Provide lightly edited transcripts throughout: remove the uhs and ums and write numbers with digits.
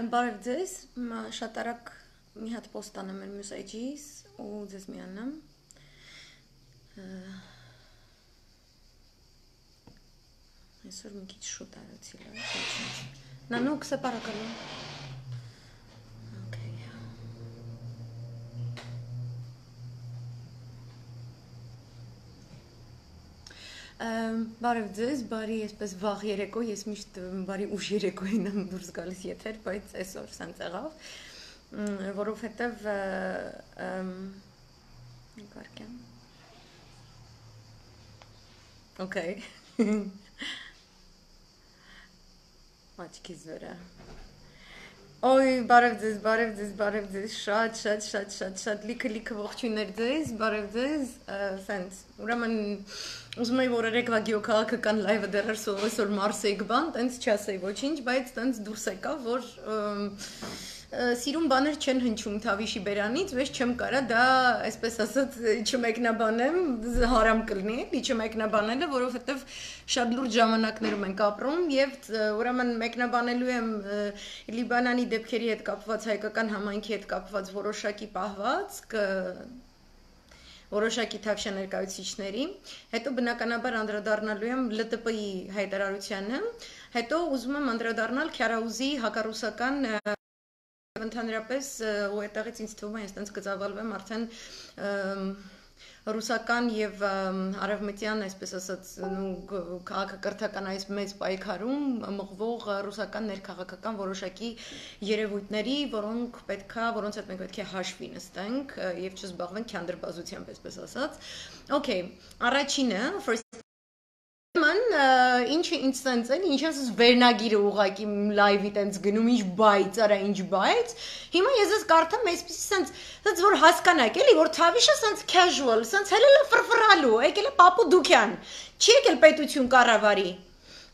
Բարև ձեզ, շատ արագ մի հատ պոստ անեմ մեր մյուս էջից ու ձեզ միանամ։ Այսօր մի քիչ շուտ արեցի լավ։ Նանուկ սեպարակալու։ Okay։ Բարև ձեզ, բարի այսպես վաղ երեկո, ես միշտ բարի ուշ երեկոին եմ դուրս գալիս եթեր, բայց այսօր սենց եղավ, որովհետև կարգեմ։ Okay։ Աչքիս վրա։ Օй, բարև ձեզ, շատ լիքը ողջույններ ձեզ, բարև ձեզ, սենց, ուրեմն ուզում էի, որ երեկվա գյուղաքաղաքական լայվը դեռ այսօր Մարսեի գբան, տենց չասեի ոչինչ, բայց տենց դուրս եկավ, որ սիրուն բաներ չեն հնչում Թավիշի բերանից, վեճ չեմ կարա դա, այսպես ասած, չմեկնաբանեմ, հարամ կլինի, չմեկնաբանելը, որովհետև շատ լուրջ ժամանակներում ենք ապրում եւ ուրեմն մեկնաբանելու եմ Լիբանանի դեպքերի հետ կապված, հայկական համայնքի հետ կապված որոշակի պահվածք, որոշակի Թավշյա ներկայացուցիչների, հետո բնականաբար անդրադառնալու եմ ԼՏՊ-ի հայտարարությանը, հետո ուզում եմ անդրադառնալ Քյարաուզի հակառուսական ընդհանրապես ու այդտեղից ինձ թվում է այստենց կծավալվեմ արդեն ռուսական եւ արևմտյան, այսպես ասած, քաղաքակրթական այս մեծ պայքարում մղվող ռուսական ներքաղաքական որոշակի երևույթների, որոնց հետ մենք պետք է հաշվի նստենք եւ չզբաղվենք քանդրբազությամբ, այսպես ասած։ Okay, առաջինը ինչը ինձ տենց են, ինչ ասես վերնագիրը ուղակի լայվի տենց գնում, ինչ բայց, արա ինչ բայց, հիմա ես ես կարդամ այսպիսի սենց որ հասկանակ էլի, որ Թավիշը սենց casual, սենց հելել է ֆրֆրալու, եկել է Պապու Դուքյան, չի եկել պետություն կառավարի,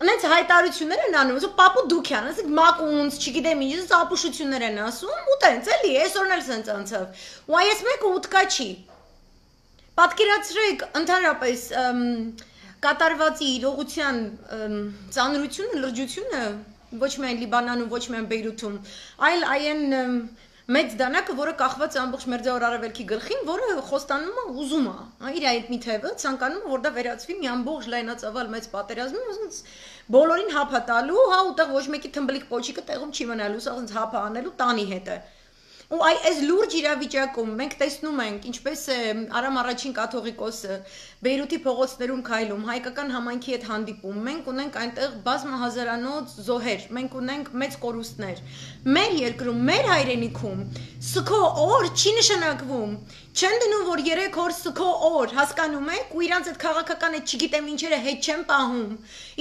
նենց հայտարարություններ են անում, Պապու Դուքյան, ասեք մակունց, չգիտեմ ինչ, ապուշություններ են ասում, ու տենց էլի, այսօրն էլ սենց անցավ, ու այս մեկը ուտկա չի, պատկերացրեք ընդհանրապես կատարվածի իրողության ծանրությունը, լրջությունը ոչ միայն Լիբանանում, ոչ միայն Բեյրութում, այլ այն մեծ դանակը, որը կախված է ամբողջ Մերձավոր Արևելքի գլխին, որը խոստանում է, ուզում է, իր այդ մի թևը ցանկանում է, որ դա վերածվի մի ամբողջ լայնածավալ մեծ պատերազմի, ոնց բոլորին հապա տալու, հա, ուտեղ ոչ մեկի թմբլիկ պոչիկը տեղում չի մնալու, սա ոնց հապա անելու տանի հետ է։ Ու այս լուրջ իրավիճակում մենք տեսնում ենք, ինչպես է Արամ առաջին կաթողիկոսը Բեյրութի փողոցներում քայլում, հայկական համայնքի հետ հանդիպում, մենք ունենք այնտեղ բազմահազարանոց զոհեր, մենք ունենք մեծ կորուստներ։ Մեր երկրում, մեր հայրենիքում սքո օր չի նշանակվում։ Չեն դնում, որ 3 օր սքո օր, հասկանում եք, ու իրանց այդ քաղաքական այդ չգիտեմ ինչերը հետ չեն պահում։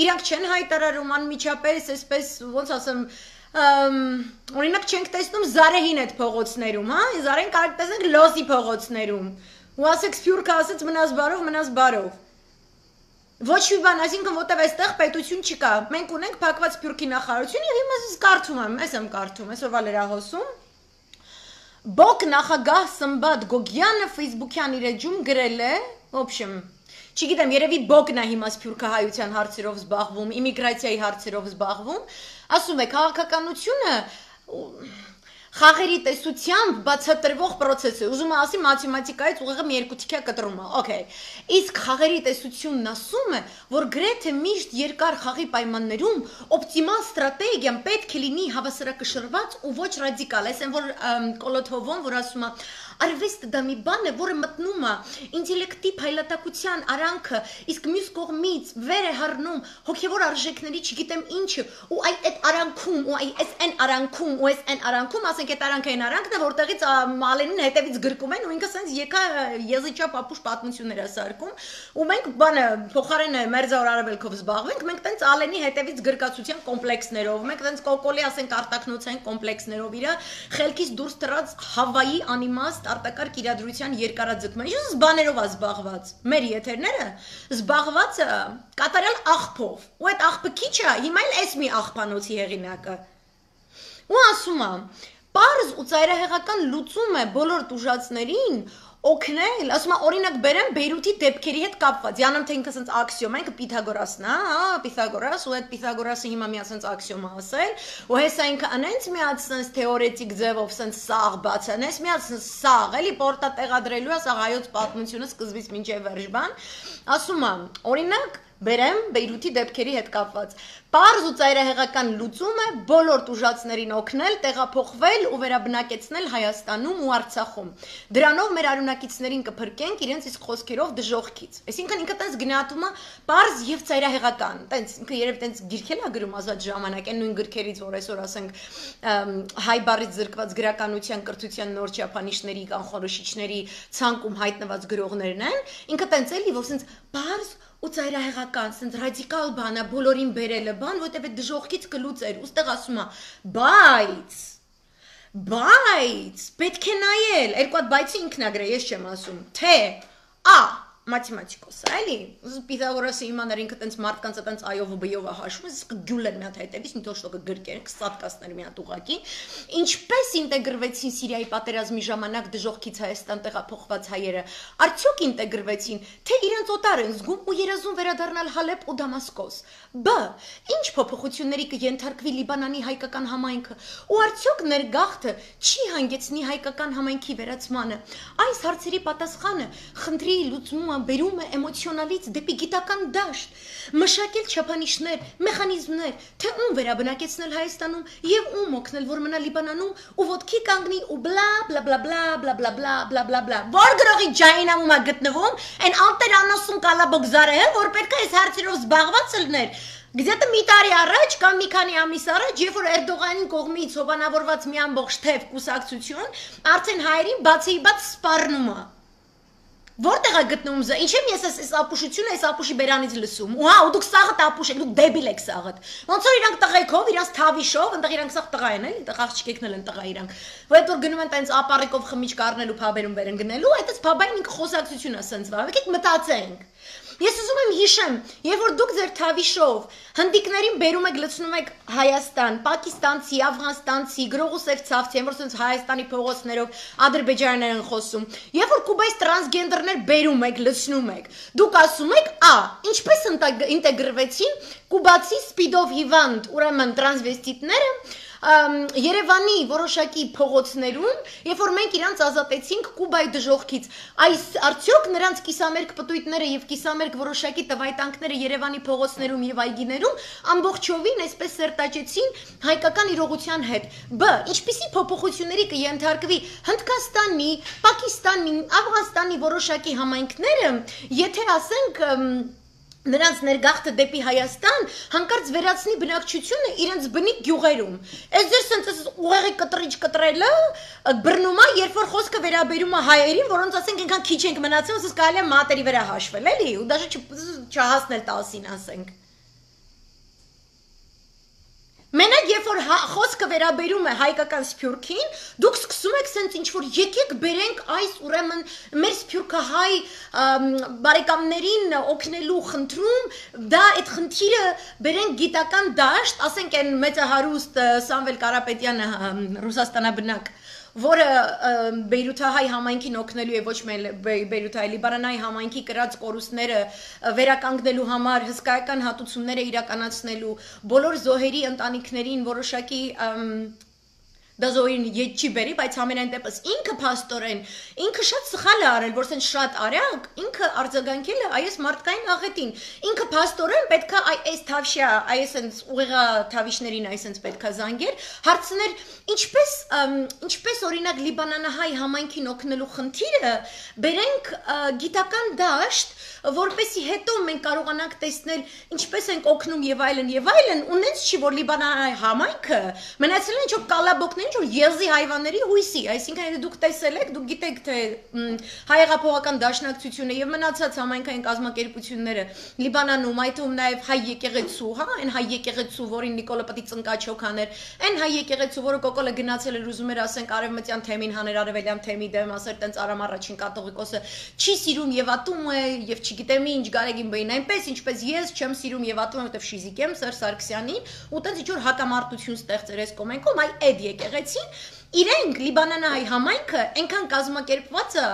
Իրանք չեն հայտարարում անմիջապես, այսպես ոնց ասեմ, օրինակ չենք տեսնում Զարեհին այդ փողոցներում, հա, Զարեն կարող տեսնենք Լոսի փողոցներում, ու ասեք Սփյուռքը ասեց մնաս բարով, ոչ մի բան, այսինքն որտեվ այստեղ պետություն չկա, մենք ունենք փակված Սփյուռքի նախարարություն եւ հիմա ես կարդում եմ, ես եմ կարդում, այսօրվա լրահոսում, Բոկ նախագահ Սմբատ Գոգյանը Facebook-յան իր էջում գրել է, в общем, չգիտեմ, երևի Բոկն է հիմա սփյուռքահայության հարցերով զբաղվում, իմիգրացիայի հարցերով զբաղվում, ասում է քաղաքականությունը խաղերի տեսությամբ բացատրվող process է, ուզում եմ ասի մաթեմատիկայից ուղղակի մի երկու թիքա կտրում է, okay, իսկ խաղերի տեսությունն ասում է, որ գրեթե միշտ երկար խաղի պայմաններում օպտիմալ ստրատեգիան պետք է լինի հավասարակշռված ու ոչ ռադիկալ, այսինքն որ Կոլոթովոն, որ ասում է արվեստը դա մի բան է, որը մտնում է ինտելեկտի փայլատակության արանքը, իսկ մյուս կողմից վեր է հառնում հոգևոր արժեքների, չգիտեմ ինչը, ու այդ արանքում, ու այն արանքում, ու այն արանքում, ասենք այդ արանքային արանքն է, որտեղից Մալենին հետևից գրկում են, ու ինքը սենց եկա եզիչա պապուշ պատմություններ է սարքում, ու մենք բանը փոխարենը Մերձավոր Արևելքով զբաղվենք, մենք տենց Ալենի հետևից գրկացության կոմպլեքսներով, մենք տենց կոկոլի ասենք արտակնոցային կոմպլեքսներով իր խելքից դուրս թռած Հավայի անիմաստ արտակարգ իրադրության երկարաձգման, ինչ բաներով է զբաղված, մեր եթերները զբաղված է կատարյալ աղբով, ու այդ աղբը քիչ է, հիմա էլ էս մի աղբանոցի հեղինակը, ու ասում է, պարզ ու ծայրահեղական լուծում է բոլոր տուժածներին, օգնել, ասում եմ օրինակ բերեմ Բեյրութի դեպքերի հետ կապված։ Յանամ թե ինքը ասենց աքսիոմ է, ինքը Պիթագորասն է, հա, Պիթագորաս, ու այդ Պիթագորասը հիմա մի ասենց աքսիոմ է ասել, ու հեսա ինքը անենց մի հատ ասենց թեորետիկ ձևով ասենց սաղ բացանես, մի հատ ասենց սաղ, էլի պորտա տեղադրելու է, սա հայոց պատմությունը սկզբից մինչև վերջ բան, ասում եմ, օրինակ բերեմ Բեյրութի դեպքերի հետ կապված։ Պարզ ու ծայրահեղական լուծում է բոլոր տուժածներին օգնել, տեղափոխվել ու վերաբնակեցնել Հայաստանում ու Արցախում։ Դրանով մեր արյունակիցներին կփրկենք իրենց իսկ խոսքերով դժոխքից։ Այսինքն ինքը տենց գնահատումը պարզ եւ ծայրահեղական։ Տենց ինքը երբ տենց գիրքել է գրում ազատ ժամանակ, այն նույն գրքերից, որ այսօր ասենք հայ բառից զրկված գրականության, կրթության նոր չափանիշների, կանխորոշիչների ցանկում հայտնված գրողներն են, ինքը տենց էլի, որ սենց պարզ ու ծայրահեղական, սենց ռադիկալ բան է, բոլորին բերելը բան, որտեղ այդ դժոխքից կլուծեր, ուստեղ ասում է, բայց, պետք է նայել, երկու հատ բայցի ինքն ա գրել, ես չեմ ասում, թե, մաթեմատիկոս է, էլի, Պիթագորասը իմանար ինքը տենց մարդկանց տենց այով ու բյով է հաշվում, իսկ գյուլեր մի հատ հետևից, մի թոշտոկը գրկեր, կսատկասներ մի հատ ուղակի, ինչպես ինտեգրվեցին Սիրիայի պատերազմի ժամանակ դժոխքից Հայաստան տեղափոխված հայերը, արդյոք ինտեգրվեցին, թե իրենց օտար են զգում ու երազում վերադառնալ Հալեբ ու Դամասկոս, ինչ փոփոխությունների կենթարկվի Լիբանանի հայկական համայնքը, ու արդյոք ներգաղթը չի հանգեցնի հայկական համայնքի վերացմանը, այս հարցերի պատասխանը խնդրի լուծումը բերում է էմոցիոնալից դեպի գիտական դաշտ, մշակել չափանիշներ, մեխանիզմներ, թե ում վերաբնակեցնել Հայաստանում եւ ում օգնել, որ մնա Լիբանանում ու ոտքի կանգնի ու բլա բլա բլա բլա բլա բլա բլա բլա բլա որ գրողի ջայնամում է գտնվում, այն ալտեր անասուն կալաբոգզարը, որ պետք է այս հարցերով զբաղված լիներ։ Գիտե մի տարի առաջ կամ մի քանի ամիս առաջ, երբ որ Էրդողանի կողմից հովանավորված մի ամբողջ թեվ կուսակցություն արդեն հայերին բացի բաց սպառնում է։ Որտեղ է գտնվում զա, ինչ եմ ես այս ապուշությունը, այս ապուշի բերանից լսում, ու հա, ու դուք սաղդ ապուշ եք, դուք դեբիլ եք սաղդ, ոնց որ իրանք տղայքով, իրանք թավիշով, ընտեղ իրանք սաղ տղա են, էլի, տղ աղջիկներն են տղա իրանք, որ այդ որ գնում են տենց ապարիկով խմիչք առնելու փաբերում բերեն գնելու, այդ փաբային ինքը խոսակցություն է սենց վավ, եկեք մտածենք։ Ես ուզում եմ հիշեմ, երբ որ դուք ձեր թավիշով հնդիկներին բերում եք լցնում եք Հայաստան, պակիստանցի, աֆղանստանցի, գրողուսև ցավցի, որ ասենց Հայաստանի փողոցներով ադրբեջաներն են խոսում, երբ որ Կուբայից տրանսգենդերներ բերում եք, լցնում եք, դուք ասում եք, ինչպես ինտեգրվեցին կուբացի սպիդով հիվանդ, ուրեմն տրանսվեստիտները Երևանի որոշակի փողոցներում, երբ որ մենք իրանց ազատեցինք Կուբայի դժոխքից, այս արդյոք նրանց կիսամերկ պտույտները եւ կիսամերկ որոշակի տվայտանքները Երևանի փողոցներում եւ այգիներում ամբողջովին այսպես սերտաճեցին հայկական իրողության հետ։ Ինչպիսի փոփոխությունների կենթարկվի Հնդկաստանի, Պակիստանի, Աֆղանստանի որոշակի համայնքները, եթե ասենք նրանց ներգաղթը դեպի Հայաստան հանկարծ վերացնի բնակչությունը իրենց բնիկ գյուղերում։ Այս ձեր սենց ուղեղի կտրիչ կտրելը բռնում է, երբ որ խոսքը վերաբերում է հայերին, որոնց ասենք այնքան քիչ ենք մնացել, ոսս կարելի է մատերի վրա հաշվել, էլի, ու դաժե չհասնել 10-ին ասենք։ Մենակ երբ որ խոսքը վերաբերում է հայկական սփյուռքին, դուք սկսում եք սենց ինչ-որ եկեք բերենք այս ուրեմն մեր սփյուռքահայ բարեկամներին օգնելու խնդրում, դա այդ խնդիրը բերենք գիտական դաշտ, ասենք այն մեծահարուստ Սամվել Կարապետյանը Ռուսաստանաբնակ, որը Բեյրութահայ համայնքին օգնելու է ոչ միայն Բեյրութահայ Լիբանանահայ համայնքի կրած կորուստները վերականգնելու համար հսկայական հատուցումները իրականացնելու բոլոր զոհերի ընտանիքներին որոշակի դա զոհերին ետ չի բերի, բայց ամենայն դեպս ինքը փաստորեն, ինքը շատ սխալ է արել, որ սենց շատ արագ, ինքը արձագանքել է այս մարդկային աղետին, ինքը փաստորեն պետք է այս թավշյա, այս սենց ուղեղա թավիշներին այս սենց պետք է զանգեր, հարցներ, ինչպես օրինակ Լիբանանահայ համայնքին օգնելու խնդիրը բերենք գիտական դաշտ, որպեսի հետո մենք կարողանանք տեսնել ինչպես ենք օգնում եւ այլն, ունենց չի որ Լիբանանահայ համայնքը մնացել են ինչ-որ կալաբոկներ, ինչ-որ եզի հայվանների հույսի, այսինքն եթե դուք տեսել եք, դուք գիտեք թե հայեղափոխական դաշնակցությունը եւ մնացած համայնքային կազմակերպությունները Լիբանանում, այդ թվում նաեւ հայ եկեղեցու, հա, այն հայ եկեղեցու, որին Նիկոլը պետք է ծնկաչ հոգաներ, այն հայ եկեղեցու, որը կոկոլը գնացել էր ուզում էր ասենք արևմտյան թեմին հաներ արևելյան թեմի դեմ, ասեր տենց Արամ առաջին կաթողիկոսը չի սիրում եւ ատում է եւ չգիտեմ ինչ Գարեգին բային այնպես ինչպես ես չեմ սիրում եւ ատում եմ որտեվ շիզիկ եմ Սերժ Սարգսյանին ու տենց ինչ որ հակամարտություն ստեղծեր այս կոմենկում այ այդ եկեղեցին իրենք Լիբանանահայ համայնքը այնքան կազմակերպված է,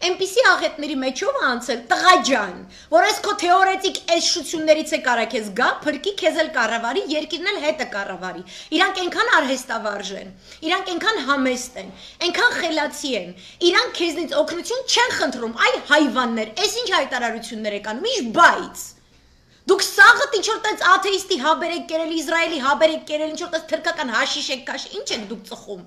այնպիսի աղետների մեջով անցել, տղա ջան, որ այս քո թեորետիկ էշություններից է կարա քեզ գա, փրկի քեզ էլ կառավարի, երկիրն էլ հետը կառավարի։ Իրանք այնքան արհեստավարժ են, իրանք այնքան համեստ են, այնքան խելացի են, իրանք քեզնից օգնություն չեն խնդրում, այ հայվաններ, այս ինչ հայտարարություններ եք անում, ինչ բայց Դուք սաղը ինչ-որ տենց աթեիստի հաբեր եք կերել, Իսրայելի հաբեր եք կերել, ինչ-որ տենց թրկական հաշիշ եք կաշ, ինչ եք դուք ծխում։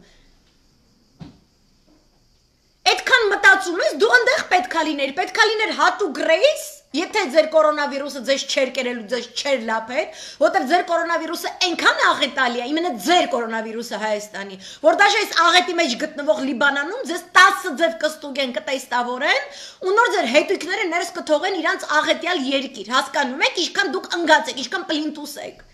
Այդքան մտածում ես, դու ընդեղ պետքա լիներ հատուկ ռեյս, եթե ձեր կորոնավիրուսը ձեզ չեր կերել ու ձեզ չեր լափել, որտեղ ձեր կորոնավիրուսը այնքան աղետալի է, իմенно ձեր կորոնավիրուսը Հայաստանի, որ դաժե այս աղետի մեջ գտնվող Լիբանանում ձեզ 10 ձև կստուգեն, կտեստավորեն, ու նոր ձեր հետույքները ներս կթողեն իրանց աղետյալ երկիր, հասկանում եք, ինչքան դուք ընգած եք, ինչքան պլինտուս եք։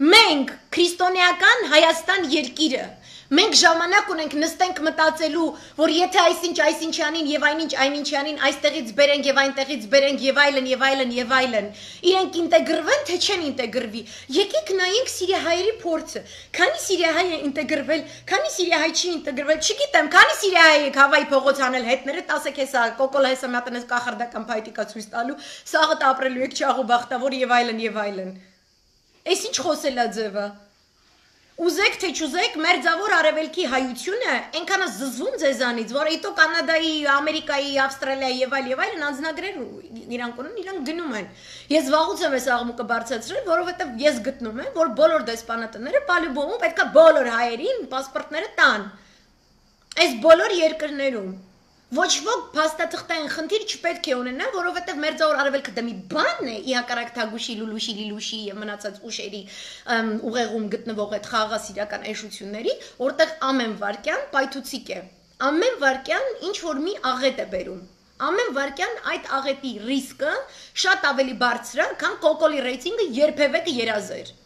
Մենք քրիստոնեական Հայաստան երկիրը Մենք ժամանակ ունենք նստենք մտածելու, որ եթե այսինչյանին եւ այնինչյանին այստեղից բերենք եւ այնտեղից բերենք եւ այլն, իրենք ինտեգրվեն, թե չեն ինտեգրվի։ Եկեք նայենք Սիրիահայերի փորձը։ Քանի Սիրիահայ է ինտեգրվել, քանի Սիրիահայ չի ինտեգրվել, չգիտեմ, քանի Սիրիահայ եք Հավայի փողոց անել հետները, տասեք հեսա կոկոլ հեսա մատանես կախարդական փայտիկա ցույց տալու, սաղը ապրելու եք չաղու բախտավոր եւ այլն։ Այս ինչ խոսելա ձևը։ Ուզեք թե չուզեք, մեր ձավոր արևելքի հայությունը այնքան զզվում ձեզանից, որ այդո Կանադայի, Ամերիկայի, Ավստրալիայի եւ այլն անձնագրեր իրանք ունեն, իրանք գնում են։ Ես վաղուց եմ այս աղմուկը բարձրացրել, որովհետեւ ես գտնում եմ, որ բոլոր դեսպանատները պալյուբոմում պետքա բոլոր հայերին պասպորտները տան։ Այս բոլոր երկրներում Ոչ ոք փաստաթղթային խնդիր չպետք է ունենա, որովհետև մեր ձավոր արևելքը դա մի բան է, ի հակառակ Թագուշի, Լուլուշի, Լիլուշի եւ մնացած ուշերի ուղեղում գտնվող այդ խաղաղասիրական էշությունների, որտեղ ամեն վարքյան պայթուցիկ է։ Ամեն վարքյան ինչ որ մի աղետ է բերում։ Ամեն վարքյան այդ աղետի ռիսկը շատ ավելի բարձր է, քան կոկոլի ռեյտինգը երբևէ կերազեր։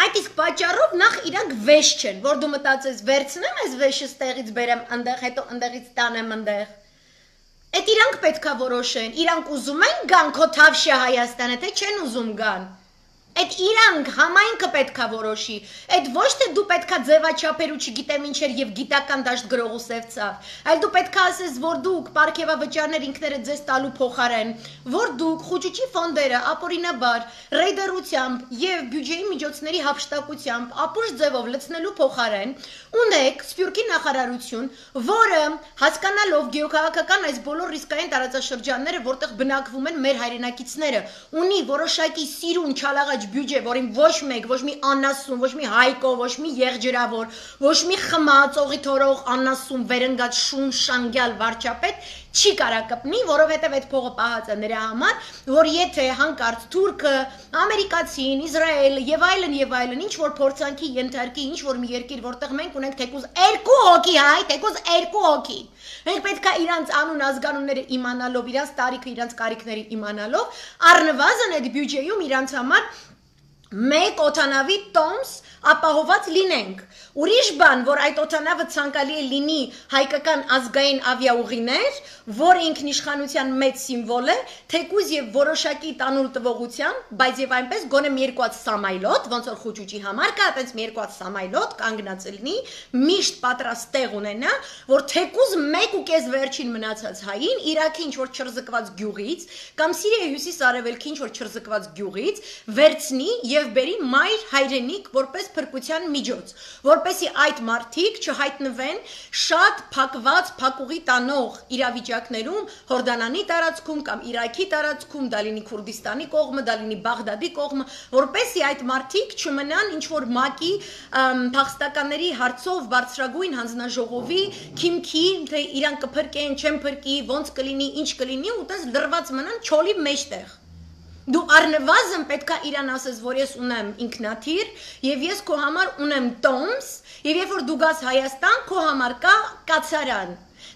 Այդ իսկ պատճառով նախ իրանք վեշ չեն, որ դու մտածես վերցնեմ այս վեշը ստեղից բերեմ ընդեղ, հետո ընդեղից տանեմ ընդեղ։ Այդ իրանք պետքա որոշեն, իրանք ուզում են գան քո Թավշյա Հայաստանը, թե չեն ուզում գան։ Այդ իրանք համայնքը պետքա որոշի, այդ ոչ թե դու պետքա ձևաչափեր ու չգիտեմ ինչեր եւ գիտական դաշտ գրողու սև ցավ, այլ դու պետքա ասես, որ դուք պարգևավճարներ ինքներդ ձեզ տալու փոխարեն, որ դուք խոճուճի ֆոնդերը ապօրինաբար ռեյդերությամբ եւ բյուջեի միջոցների հափշտակությամբ ապուշ ձևով լցնելու փոխարեն ունեք Սփյուռքի նախարարություն, որը հասկանալով գեոքաղաքական այս բոլոր ռիսկային տարածաշրջանները, որտեղ բնակվում են մեր հայրենակիցները, ունի որոշակի սիրուն չալաղաջ բյուջե, որին ոչ մեկ, ոչ մի անասուն, ոչ մի հայկո, ոչ մի եղջերավոր, ոչ մի խմած, օղի թորող, անասուն, վերընկած շուն շանգյալ վարչապետ չի կարա կպնի, որովհետև այդ փողը պահած է նրա համար, որ եթե հանկարծ թուրքը, ամերիկացին, Իսրայելը եւ այլն, ինչ որ փորձանքի ենթարկի, ինչ որ մի երկիր, որտեղ մենք ունենք թեկուզ 2 հոգի հայ, թեկուզ 2 հոգի։ Մենք պետք է իրանց անուն ազգանունները իմանալով, իրանց տարիքը, իրանց կարիքները իմանալով, առնվազն այդ բյուջեում իրանց համար մեկ օթանավի տոմս ապահոված լինենք։ Ուրիշ բան, որ այդ օթանավը ցանկալի է լինի հայկական ազգային ավիաուղիներ, որ ինքնիշխանության մեծ սիմվոլ է, թեկուզ եւ որոշակի տանուլ տվողությամբ, բայց եւ այնպես գոնե մի երկուած սամայլոտ, ոնց որ խոճուճի համար կա, այտենց մի երկուած սամայլոտ կանգնած լինի, միշտ պատրաստ տեղ ունենա, որ թեկուզ 1.5 վերջին մնացած հային Իրաքի ինչ որ չրզկված գյուղից կամ Սիրիայի հյուսիս-արևելքի ինչ որ չրզկված գյուղից վերցնի եւ բերի մայր հայրենիք որպես փրկության միջոց, որպեսի այդ մարդիկ չհայտնվեն շատ փակված փակուղի տանող իրավիճակներում Հորդանանի տարածքում կամ Իրաքի տարածքում, դա լինի Քուրդիստանի կողմը, դա լինի Բաղդադի կողմը, որպեսի այդ մարդիկ չմնան ինչ որ ՄԱԿ-ի փախստականների հարցով բարձրագույն հանձնաժողովի քիմքի, թե իրանք կփրկեն, չեն փրկի, ոնց կլինի, ինչ կլինի, ու տես լրված մնան չոլի մեջտեղ։ Դու առնվազն պետք է իրան ասես, որ ես ունեմ ինքնաթիռ եւ ես քո համար ունեմ տոմս եւ երբ որ դու գաս Հայաստան, քո համար կա կացարան։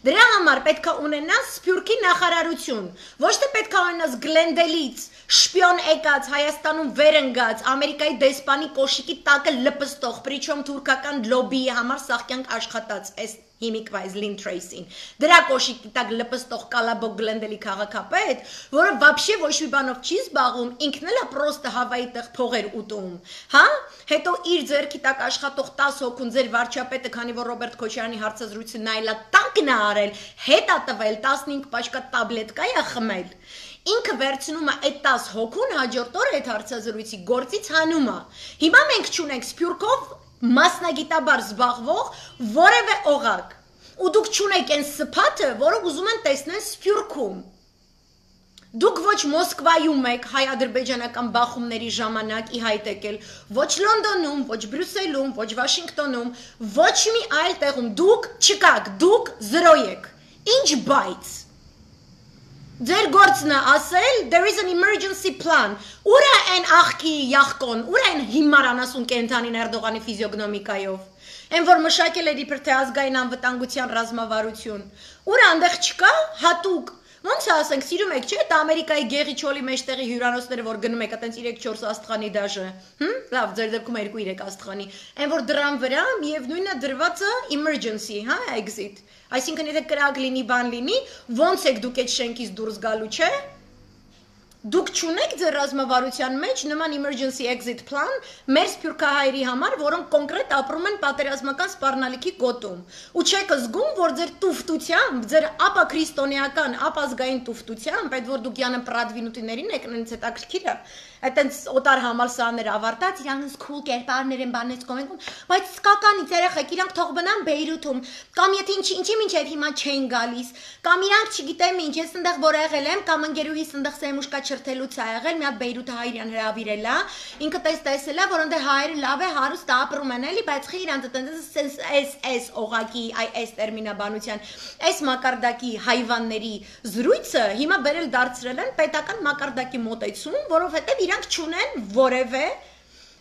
Դրա համար պետք է ունենաս Սփյուռքի նախարարություն, ոչ թե պետք է ունենաս Գլենդելից շպիոն եկած Հայաստանում վերընկած Ամերիկայի դեսպանի կոշիկի տակը լպստող, պրիչոմ թուրքական լոբիի համար սաղկյանք աշխատած այս հիմիկվայզ Lynn Tracy-ին, դրա կոշիկի տակ լպստող կալաբոկ գլենդելի քաղաքապետ, որը вообще ոչ մի բանով չի զբաղվում, ինքն էլ է պրոստը Հավայի տեղ փողեր ուտում, հա? Հետո իր ձեռքի տակ աշխատող 10 հոգուն ձեր վարչապետը, քանի որ Ռոբերտ Քոչարյանի հարցազրույցը նայելա տանկն է արել, հետ է տվել 15 պաչկա տաբլետկա է խմել։ Ինքը վերցնում է այդ 10 հոգուն հաջորդ օրը այդ հարցազրույցի գործից հանում է։ Հիմա մենք չունենք Սփյուռքով մասնագիտաբար զբաղվող որևէ օղակ։ Ու դուք չունեք այն սփաթը, որը ուզում են տեսնել Սփյուռքում։ Դուք ոչ Մոսկվայում եք հայ-ադրբեջանական բախումների ժամանակ ի հայտ եկել, ոչ Լոնդոնում, ոչ Բրյուսելում, ոչ Վաշինգտոնում, ոչ մի այլ տեղում դուք չկաք, դուք զրո եք։ Ինչ բայց։ Ձեր գործն է ասել, there is an emergency plan։ Ուր է այն աղքի յախկոն, ուր է այն հիմար անասուն կենթանին Էրդողանի ֆիզիոգնոմիկայով։ Այն որ մշակել էր իբր թե ազգային անվտանգության ռազմավարություն։ Ուր այնտեղ չկա հատուկ։ Ոնց է ասենք, սիրում եք, չէ՞, դա Ամերիկայի գեղի չոլի մեջտեղի հյուրանոցները, որ գնում եք, այտենց 3-4 աստղանի դաժը։ Լավ, ձեր դեպքում 2-3 աստղանի։ Այն որ դրան վրա միևնույնն է դրված է emergency, հա, exit։ Այսինքն եթե կրակ լինի, բան լինի, ոնց եք դուք այդ շենքից դուրս գալու, չէ՞։ Դուք չունեք ձեր ռազմավարության մեջ նման emergency exit plan մեր սփյուռքահայերի համար, որոնք կոնկրետ ապրում են պատերազմական սպառնալիքի գոտում։ Ու չեք զգում, որ ձեր տուֆտությամբ, ձեր ապա քրիստոնեական, ապազգային տուֆտությամբ, այդ որ դուք յանը պրադվինուտիներին եք, նենց հետաքրքիր է, այտենց օտար համալսարաններ ավարտած, իրանց cool կերպարներ են բանից կոմենքում, բայց սկականից երեխեք, իրանք թող բնան Բեյրութում, կամ եթե ինչի մինչև հիմա չեն գալիս, կամ իրանք չգիտեմ ինչ, ես ընդեղ որ եղել եմ, կամ ընկերուհիս ընդեղ սեմուշկա չրթելուց է եղել, մի հատ Բեյրութը հայրյան հրավիրել է, ինքը տեսել է, որ ընդեղ հայերը լավ է հարուստ ապրում են էլի, բայց խի իրանք այս օղակի, այս տերմինաբանության, այս մակարդակի հայվանների զրույցը հիմա բերել դարձրել են պետական մակարդակի մոտեցում, որովհետև իրանք չունեն որևէ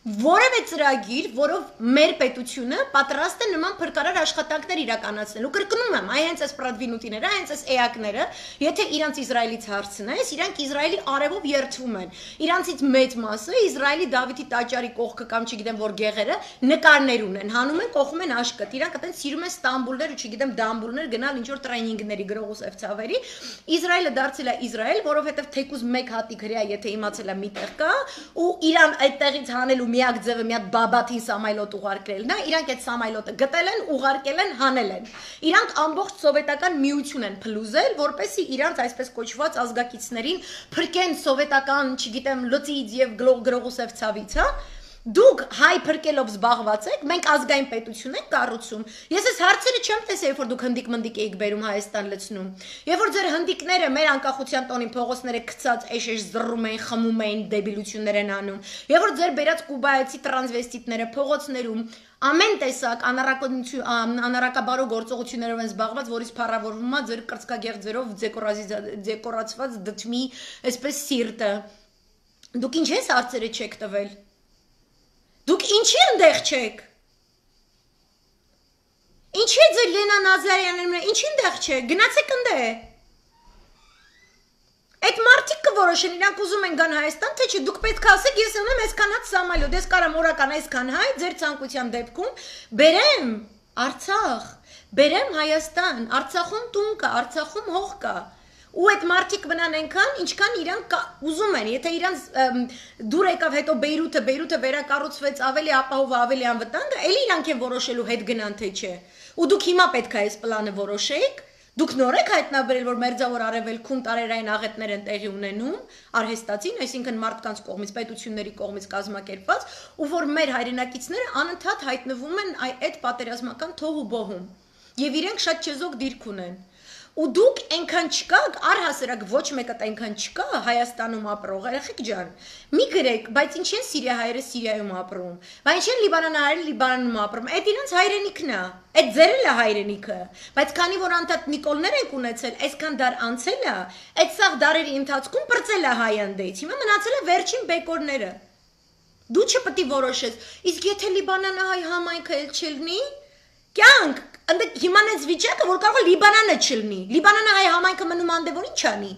ծրագիր, որով մեր պետությունը պատրաստ է նման փրկարար աշխատանքներ իրականացնել։ Ու կրկնում եմ, այ հենց այս պրադվինուտիները, հենց այս էակները, եթե իրանց Իսրայելից հարցնես, իրանք Իսրայելի արևով երթվում են։ Իրանցից մեծ մասը Իսրայելի Դավիթի տաճարի կողքը կամ չգիտեմ որ գեղերը նկարներ ունեն, հանում են, կողում են աշկտ։ Իրանք այտենց սիրում են Ստամբուլներ ու չգիտեմ դամբուլներ գնալ ինչ որ տրեյնինգների գրողուսև ցավերի։ Իսրայելը դարձել է Իսրայել, որովհետև թեկուզ մեկ հատիկ հրեա, եթե իմացել է մի տեղ կա, ու Իրան այդտեղից հանելու միակ ձևը մի հատ բաբաթին սամայլոտ ուղարկելն է, իրանք այդ սամայլոտը գտել են, ուղարկել են, հանել են։ Իրանք ամբողջ սովետական միություն են փլուզել, որպեսզի իրանք այսպես կոչված ազգակիցներին փրկեն սովետական, չգիտեմ, լծից եւ գրողուսև ցավից, հա։ Դուք հայ փրկելով զբաղված եք, մենք ազգային պետություն ենք կառուցում։ Ես այս հարցերը չեմ տեսել, երբ որ դուք հնդիկ-մնդիկ էիք բերում Հայաստան լցնում։ Երբ որ ձեր հնդիկները մեր անկախության տոնին փողոցները գցած էշ զռում էին, խմում էին, դեբիլություններ են անում։ Երբ որ ձեր բերած կուբայացի տրանսվեստիտները փողոցներում ամեն տեսակ անառակաբարո գործողություններով են զբաղված, որից փառավորվում է ձեր կրծքագեղձերով դեկորացված դդմի այսպես սիրտը։ Դուք ինչ ես հարցերը չեք տվել։ Դուք ինչի ընդեղ չեք։ Ինչի է ձեր Լենա Նազարյանները, ինչի ընդեղ չեք, գնացեք ընդեղ։ Այդ մարդիկ կորոշեն, իրանք ուզում են գան Հայաստան, թե չէ, դուք պետք է ասեք, ես ունեմ այսքան հատ սամալյոտ, ես կարամ օրական այսքան հայ, ձեր ցանկության դեպքում բերեմ Արցախ, բերեմ Հայաստան, Արցախում տուն կա, Արցախում հող կա։ Ու այդ մարդիկ մնան այնքան, ինչքան իրանք ուզում են, եթե իրանք դուր եկավ հետո Բեյրութը վերակառուցվեց ավելի ապահով, ավելի անվտանգ, էլի իրանք են որոշելու հետ գնան թե չէ։ Ու դուք հիմա պետք է այս պլանը որոշեիք, դուք նոր եք հայտնաբերել, որ մերձավոր արևելքում տարերային աղետներ են տեղի ունենում, արհեստացին, այսինքն մարդկանց կողմից, պետությունների կողմից կազմակերպված, ու որ մեր հայրենակիցները անընդհատ հայտնվում են այդ պատերազմական թող ու բոհում։ Եվ իրենք շատ չեզոք դիրք ունեն։ Ու դուք այնքան չկաք, առհասարակ ոչ մեկը այնքան չկա Հայաստանում ապրող, երեխեք ջան, մի գրեք, բայց ինչ են Սիրիահայերը Սիրիայում ապրում, բայց ինչ են Լիբանանահայերը Լիբանանում ապրում, այդ իրենց հայրենիքն է, այդ ձեր էլ է հայրենիքը, բայց քանի որ անդադ Նիկոլներ ենք ունեցել, այսքան դար անցել է, այդ սաղ դարերի ընթացքում պրծել է հայ անդեից, հիմա մնացել է վերջին բեկորները։ Դու չպետք է որոշես, իսկ եթե Լիբանանահայ համայնքը էլ չլինի, կյանք հիմա այս վիճակը, որ կարող է Լիբանանը չլինի, Լիբանանահայ համայնքը մնում անդե որ ինչ անի։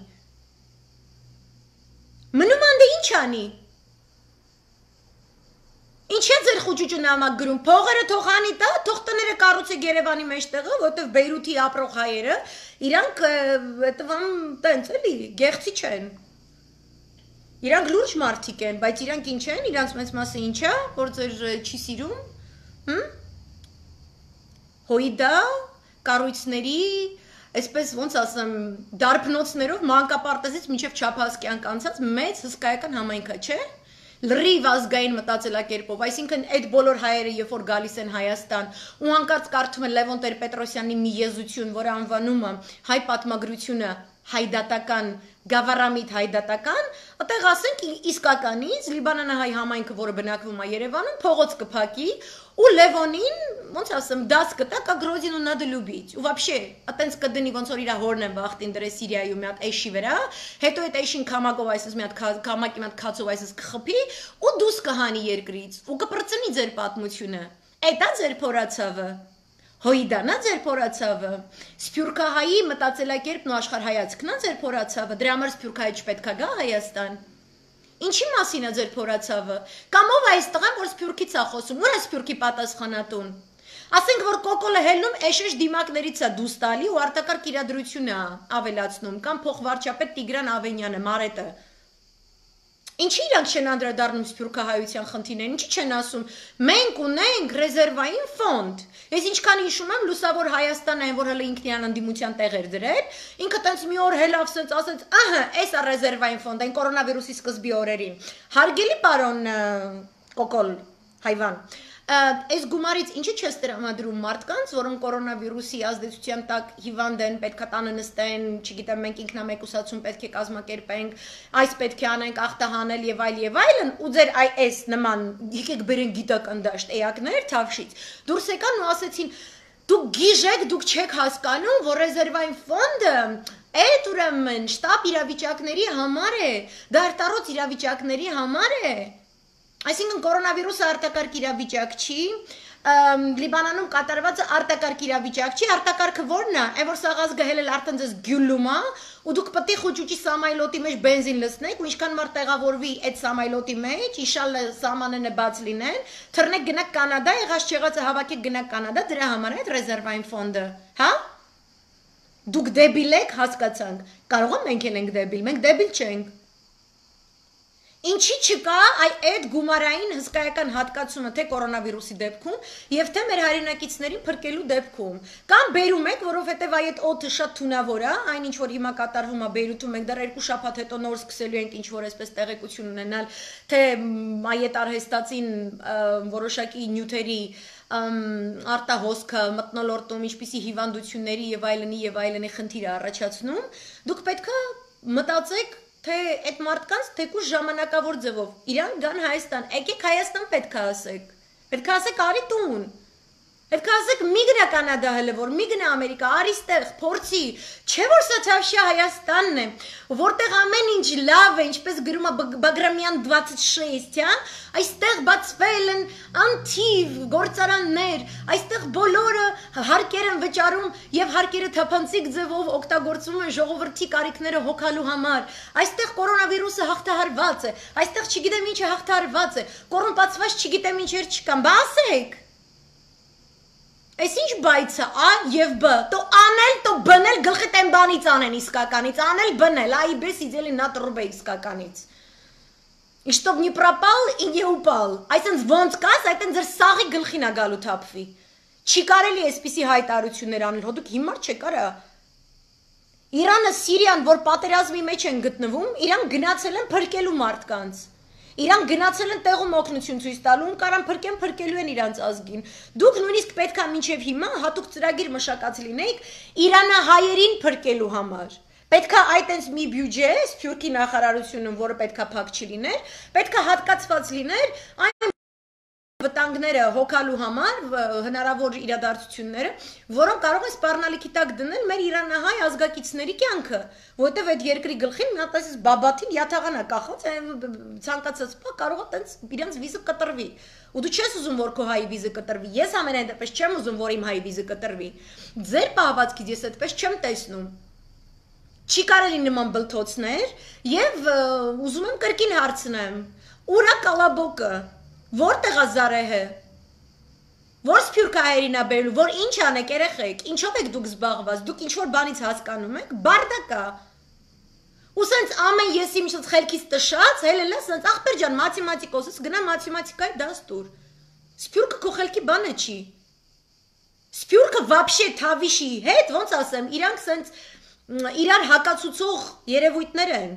Մնում անդե ինչ անի։ Ինչ է ձեր խոճուճը նամակ գրում, փողերը թողանի տա, թող տները կառուցեք Երևանի մեջտեղը, որտեվ Բեյրութի ապրող հայերը, իրանք այդվան տենց էլի, գեղցի չեն։ Իրանք լուրջ մարդիկ են, բայց իրանք ինչ են, իրանք մեծ մասը ինչ է, որ ձեր չի սիրում, հոյդա, կառույցների, այսպես ոնց ասեմ, դարբնոցներով մանկապարտեզից մինչև Չափազկյանք անցած մեծ հսկայական համայնք է, չէ՞։ Լրիվ ազգային մտածելակերպով, այսինքն այդ բոլոր հայերը, երբ որ գալիս են Հայաստան, ու հանկարծ կարդում են Լևոն Տեր-Պետրոսյանի մի եզություն, որը անվանում է հայ պատմագրությունը հայդատական, գավառամիտ հայդատական, այդտեղ ասենք իսկականից Լիբանանահայ համայնքը, որը բնակվում է Երևանում, փողոց կփակի ու Լևոնին, ոնց ասեմ, դաս կտա կա Գրոզինու надо любить։ Ու вообще, այտենց կդնի ոնց որ իր հորն են վախտին դրե Սիրիայում մի հատ էշի վրա, հետո այդ էշին քամակով այսպես մի հատ քամակի մի հատ քացով այսպես կխփի ու դուս կհանի երկրից ու կպրծնի ձեր պատմությունը։ Էդա ձեր փորացավը։ Հոյդանա ձեր փորացավը, Սփյուռքահայի մտածելակերպն ու աշխարհայացքն է ձեր փորացավը, դրա համար Սփյուռքահայ չպետք է գա Հայաստան։ Ինչի մասին է ձեր փորացավը, կամ ով է այս տղան, որ Սփյուռքից է խոսում, ո՞ւր է Սփյուռքի պատասխանատուն։ Ասենք որ կոկոլը հելնում էշեշ դիմակներից է դուս տալի ու արտակարգ իրադրություն է ավելացնում, կամ փոխվարչապետ Տիգրան Ավենյանը, Մարետը։ Ինչի իրանք չեն անդրադառնում Սփյուռքահայության խնդիրներին, ինչի չեն ասում, մենք ունենք ռեզերվային ֆոնդ։ Ես ինչքան հիշում եմ, Լուսավոր Հայաստանը, այն որ հələ ինքնին անդիմության տեղեր դրել, ինքը տենց մի օր հելավ սենց ասեց, ահա, էս է ռեզերվային ֆոնդ, այն կորոնավիրուսի սկզբի օրերին։ Հարգելի պարոն Կոկոլ Հայվան, այս գումարից ինչի չես տրամադրում մարդկանց, որոնք կորոնավիրուսի ազդեցության տակ հիվանդ են, պետք է տանը նստեն, չգիտեմ, մենք ինքնամեկուսացում պետք է կազմակերպենք, այս պետք է անենք ախտահանել եւ այլն, ու ձեր այս նման եկեք բերեն գիտական դաշտ էակներ Թավշից, դուրս եկան ու ասեցին, դուք գիժեք, դուք չեք հասկանում, որ ռեզերվային ֆոնդը այդ ուրեմն շտապ իրավիճակների համար է, դարտարոց իրավիճակների համար է։ Այսինքն կորոնավիրուսը արտակարգ իրավիճակ չի, Լիբանանում կատարվածը արտակարգ իրավիճակ չի, արտակարգը ո՞րն է, այն որ սաղազ գհելել արդեն ձեզ գյուլում է, ու դուք պետք է խոճուճի սամայլոտի մեջ բենզին լցնեք, ու ինչքան մարդ տեղավորվի այդ սամայլոտի մեջ, իշալլա սամանենը բաց լինեն, թռնեք գնաք Կանադա, եղած չեղածը հավաքեք գնաք Կանադա, դրա համար է այդ ռեզերվային ֆոնդը, հա? Դուք դեբիլ եք, հասկացանք, կարող է մենք ենք դեբիլ, մենք դեբիլ չենք։ Ինչի չկա այդ գումարային հսկայական հատկացումը թե կորոնավիրուսի դեպքում եւ թե մեր հայրենակիցներին փրկելու դեպքում կամ բերում եք, որովհետեւ այդ օդը շատ թունավոր է, այն ինչ որ հիմա կատարվում է Բեյրութում, մենք դեռ 2 շաբաթ հետո նոր սկսելու ենք ինչ որ այսպես տեղեկություն ունենալ, թե այդ արհեստացին որոշակի նյութերի արտահոսքը մտնոլորտում, ինչպիսի հիվանդությունների եւ այլնի խնդիր է առաջացնում, դուք պետք է մտածեք թե այդ մարդկանց թեկուզ ժամանակավոր ձևով իրանք գան Հայաստան, եկեք Հայաստան պետք է ասեք արի տուն, պետք է ասեք մի գնա Կանադա հələ որ, մի գնա Ամերիկա, արի ստեղ, փորձի, չէ որ սա Թավշյա Հայաստանն է, որտեղ ամեն ինչ լավ է, ինչպես գրում է Բագրամյան 26, հա, այստեղ բացվել են անթիվ գործարաններ, այստեղ բոլորը հարկեր են վճարում եւ հարկերը թափանցիկ ձևով օգտագործվում են ժողովրդի կարիքները հոգալու համար, այստեղ կորոնավիրուսը հաղթահարված է, այստեղ չգիտեմ ինչ է հաղթահարված է, կոռումպացված չգիտեմ ինչեր չկան, բա ասեք։ Այս ինչ բայց է, A եւ B, то անել, то բնել գլխի տեն բանից անեն իսկականից, անել բնել, այ բես իդելի նա տրուբե իսկականից։ И чтоб не пропал и не упал, այսինքն ոնց կաս, այդեն ձեր սաղի գլխին է գալու թափվի։ Չի կարելի այսպիսի հայտարարություններ անել, հո դուք հիմար չեք արա։ Իրանը, Սիրիան, որ պատերազմի մեջ են գտնվում, իրան գնացել են փրկելու մարդկանց։ Իրանք գնացել են տեղում օգնություն ցույց տալու, կարան փրկելու են իրանց ազգին։ Դուք նույնիսկ պետք է մինչև հիմա հատուկ ծրագիր մշակած լինեիք իրանահայերին փրկելու համար։ Պետք է այտենց մի բյուջե, Սփյուռքի նախարարությունը, որը պետք է փակ չլիներ, պետք է հատկացված լիներ այն վտանգները հոգալու համար, հնարավոր իրադարձությունները, որոնք կարող են սպառնալիքի տակ դնել մեր իրանահայ ազգակիցների կյանքը, որովհետև այդ երկրի գլխին մի հատ այսպես բաբաթին յաթաղանա կախած, ցանկացած բա կարող է տենց իրանց վիզը կտրվի։ Ու դու չես ուզում որ քո հայի վիզը կտրվի։ Ես ամենայն դեպս չեմ ուզում որ իմ հայի վիզը կտրվի։ Ձեր պահվածքից ես այդպես չեմ տեսնում։ Չի կարելի նման բլթոցներ եւ ուզում եմ կրկին հարցնեմ. ուրա կալաբոկը Որտեղ է Զարեհը։ Որ սփյուռքա հայերին է բերելու, որ ինչ անեք երեխեք, ինչով եք դուք զբաղված, դուք ինչ որ բանից հասկանում եք, բարդակա։ Ու սենց ամեն ես իմ խելքից տշած, հելելա սենց ախպեր ջան, մաթեմատիկոս, գնա մաթեմատիկայի դաս տուր։ Սփյուռքը քո խելքի բանը չի։ Սփյուռքը вообще թավիշի հետ, ոնց ասեմ, իրանք սենց իրար հակացուցող երևույթներ են։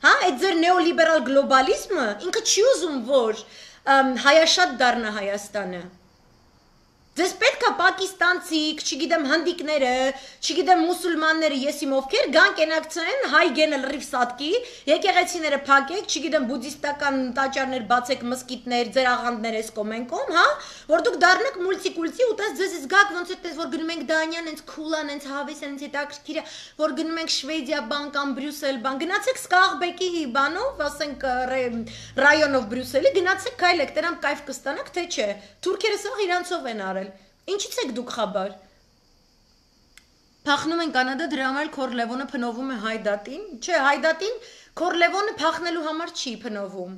Հա, այդ ձեր նեոլիբերալ գլոբալիզմը ինքը չի ուզում, որ հայաշատ դառնա Հայաստանը։ Ձեզ պետք է պակիստանցիք, չգիտեմ հնդիկները, չգիտեմ մուսուլմանները, ես իմ ովքեր գան կենակցեն հայ գենը լրիվ սատկի, եկեղեցիները փակեք, չգիտեմ բուդդիստական տաճարներ բացեք, մսկիթներ, ձեր աղանդներ էս կոմենկոմ, հա, որ դուք դառնաք մուլտիկուլտի ու տես ձեզ զգաք ոնց է տես որ գնում ենք Դանիան, հենց քուլան, հենց հավես, հենց հետաքրքիր է, որ գնում ենք Շվեդիա բան կամ Բրյուսել բան, գնացեք Սկաղբեկի բանով, ասենք ռայոնով Բրյուսելի, գնացեք քայլեք, դրանք կայֆ կստանաք, թե չէ։ Թուրքերը սա իրանցով են արել։ Ինչից եք դուք խաբար։ Փախնում են Կանադա, դրա համար Քորլևոնը փնովում է Հայդատին։ Չէ, Հայդատին Քորլևոնը փախնելու համար չի փնովում։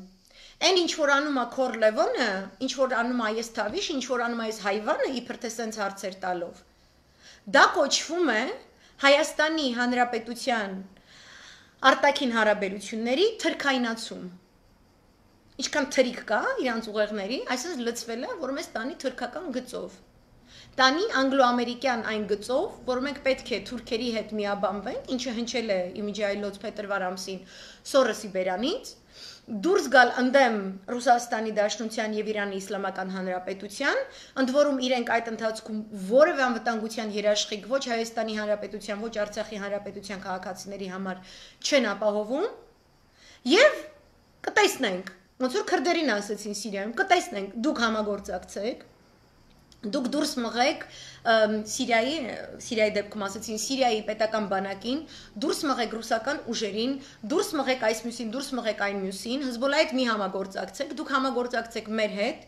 Այն ինչ որ անում է Քորլևոնը, ինչ որ անում է այս թավիշ, ինչ որ անում է այս հայվանը, իբր թե սենց հարցեր տալով։ Դա կոչվում է Հայաստանի Հանրապետության արտաքին հարաբերությունների թրքայնացում։ Ինչքան թրիկ կա իրանց ուղեղների, այսպես լցվել է, որ մեզ տանի թրքական գծով։ Տանի անգլո-ամերիկյան այն գծով, որ մենք պետք է թուրքերի հետ միաբանվենք, ինչը հնչել է իմիջայլոց փետրվար ամսին Սորոսի բերանից, դուրս գալ ընդդեմ Ռուսաստանի Դաշնության եւ Իրանի Իսլամական Հանրապետության, ընդ որում իրենք այդ ընթացքում որևէ անվտանգության երաշխիք ոչ Հայաստանի Հանրապետության, ոչ Արցախի Հանրապետության քաղաքացիների համար չեն ապահովում, եւ կտեսնենք ոնց որ քրդերին ասեցին Սիրիայում, կտեսնենք, դուք համագործակցեք, դուք դուրս մղեք Սիրիայի դեպքում ասեցին Սիրիայի պետական բանակին, դուրս մղեք ռուսական ուժերին, դուրս մղեք այս մյուսին, դուրս մղեք այն մյուսին, Հզբոլայի հետ մի համագործակցեք, դուք համագործակցեք մեր հետ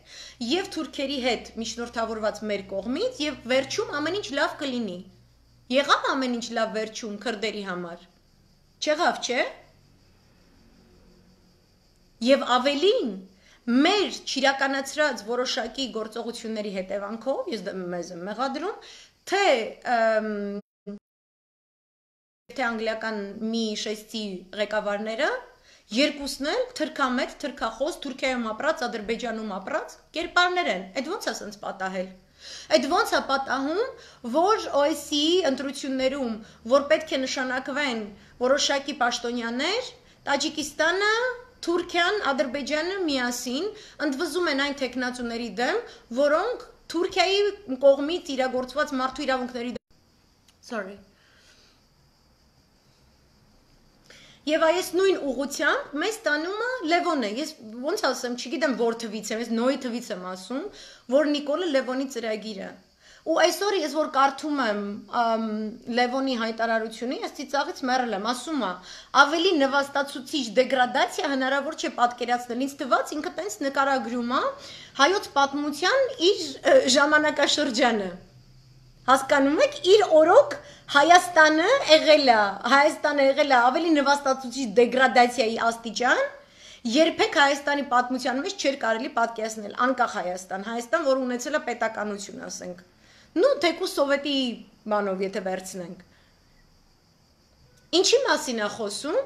եւ թուրքերի հետ միջնորդավորված մեր կողմից եւ վերջում ամեն ինչ լավ կլինի։ Եղավ ամեն ինչ լավ վերջում քրդերի համար։ Չեղավ, չէ՞։ Եվ ավելին մեր չիրականացրած որոշակի գործողությունների հետևանքով, ես մեզ եմ մեղադրում, թե անգլիական մի շեստի ղեկավարները երկուսն էլ թրքամետ, թրքախոս, Թուրքիայում ապրած, Ադրբեջանում ապրած կերպարներ են։ Այդ ոնց է սենց պատահել։ Այդ ոնց է պատահում, որ OSCE ընտրություններում, որ պետք է նշանակվեն որոշակի պաշտոնյաներ, Տաջիկստանը Թուրքիան, Ադրբեջանը միասին ընդվզում են այն տեխնացուների դեմ, որոնք Թուրքիայի կողմից իրագործված մարդու իրավունքների դեմ։ Եվ այս նույն ուղղությամբ մեզ տանում է Լևոնը։ Ես ոնց ասեմ, չգիտեմ որ թվից եմ, ես նոյի թվից եմ ասում, որ Նիկոլը Լևոնի ծրագիրը։ Ու այսօր ես որ կարդում եմ Լևոնի հայտարարությունը, ես ծիծաղից մեռել եմ, ասում է, ավելի նվաստացուցիչ դեգրադացիա հնարավոր չէ պատկերացնել, ինձ թվաց ինքը տենց նկարագրում է հայոց պատմության իր ժամանակաշրջանը։ Հասկանում եք, իր օրոք Հայաստանը եղել է ավելի նվաստացուցիչ դեգրադացիայի աստիճան, երբեք Հայաստանի պատմության մեջ չէր կարելի պատկերացնել, անկախ Հայաստան, որ ունեցել է պետականություն, ասենք։ Ну, թեկուզ սովետի բանով, եթե վերցնենք։ Ինչի մասին է խոսում,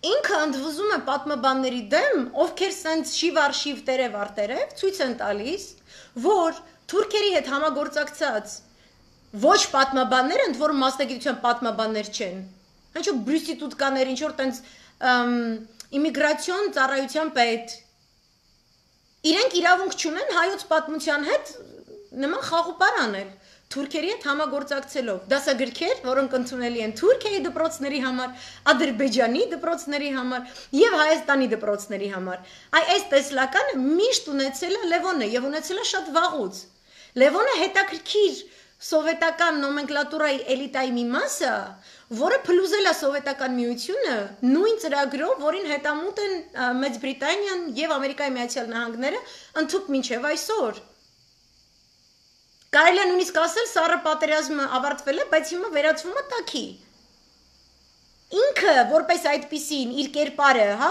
ինքը ընդվզում է պատմաբանների դեմ, ովքեր սենց շիվ տերև արտերև, ցույց են տալիս, որ թուրքերի հետ համագործակցած ոչ պատմաբաններ, ընդ որում մասնագիտության պատմաբաններ չեն, ինչ որ բրյուսիտուտկաներ, ինչ որ տենց իմիգրացիոն ծառայության պետ, իրենք իրավունք չունեն հայոց պատմության հետ նման խաղուպար անել, թուրքերի հետ համագործակցելով, դասագրքեր, որոնք ընդունելի են Թուրքիայի դպրոցների համար, Ադրբեջանի դպրոցների համար եւ Հայաստանի դպրոցների համար։ Այս տեսլականը միշտ ունեցել է Լևոնը եւ ունեցել է շատ վաղուց։ Լևոնը հետաքրքիր սովետական նոմենկլատուրայի էլիտայի մի մասը, որը փլուզել է սովետական միությունը նույն ծրագրով, որին հետամուտ են Մեծ Բրիտանիան եւ Ամերիկայի Միացյալ Նահանգները ընդհուպ մինչեւ այսօր։ Կարելի է նույնիսկ ասել սառը պատերազմը ավարտվել է, բայց հիմա վերածվում է տաքի։ Ինքը որպես այդպիսին իր կերպարը, հա,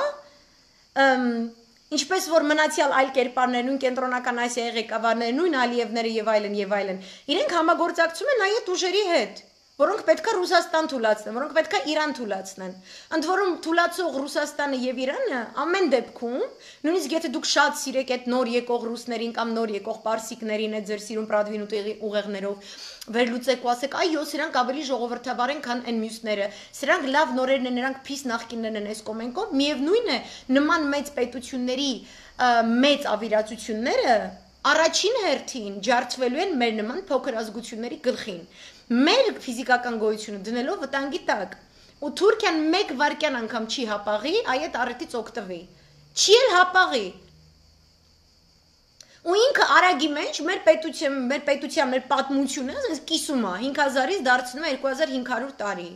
Ինչպես որ մնացյալ այլ կերպարներ, նույն կենտրոնական Ասիայի ղեկավարները, նույն Ալիևները եւ այլն, իրենք համագործակցում են այդ ուժերի հետ, որոնք պետքա Ռուսաստան թուլացնեն, որոնք պետքա Իրան թուլացնեն։ Ընդ որում թուլացող Ռուսաստանը եւ Իրանը ամեն դեպքում, նույնիսկ եթե դուք շատ սիրեք այդ նոր եկող ռուսներին կամ նոր եկող պարսիկներին, այդ ձեր սիրուն Պրադվին ուղեղներով վերլուծեք ու ասեք, այո, սրանք ավելի ժողովրդավար են, քան այն մյուսները։ Սրանք լավ նորերն են, նրանք փիս նախկիններն են այս կոմենկով, միևնույն է, նման մեծ պետությունների մեծ ավիրացությունները առաջին հերթին ջարդվելու են մեր նման փոքր ազգությունների գլխին։ Մեր ֆիզիկական գոյությունը դնելով վտանգի տակ, ու Թուրքիան մեկ վայրկյան անգամ չի հապաղի, այդ առիթից օգտվի։ Չի էլ հապաղի։ Ու ինքը արագի մեջ մեր պատմությունը կիսում է 5000-ից դարձնում է 2500 տարի։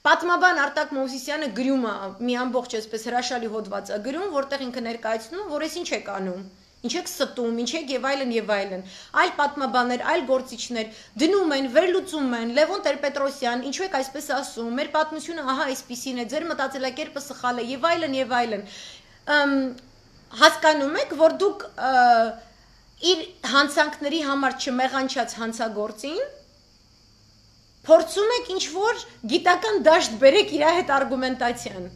Պատմաբան Արտակ Մովսիսյանը գրում է մի ամբողջ այսպես հրաշալի հոդված է գրում, որտեղ ինքը ներկայացնում, որ այս ինչ եք անում, ինչ եք ստում, ինչ եք եւ այլն, այլ պատմաբաններ, այլ գործիչներ դնում են, վերլուծում են, Լևոն Տեր-Պետրոսյան, ինչու եք այսպես ասում, մեր պատմությունը ահա այսպիսին է, ձեր մտածելակերպը սխալ է եւ այլն։ Հասկանում եք, որ դուք իր հանցանքների համար չմեղանչած հանցագործին փորձում եք ինչ-որ գիտական դաշտ բերեք իր հետ արգումենտացիան։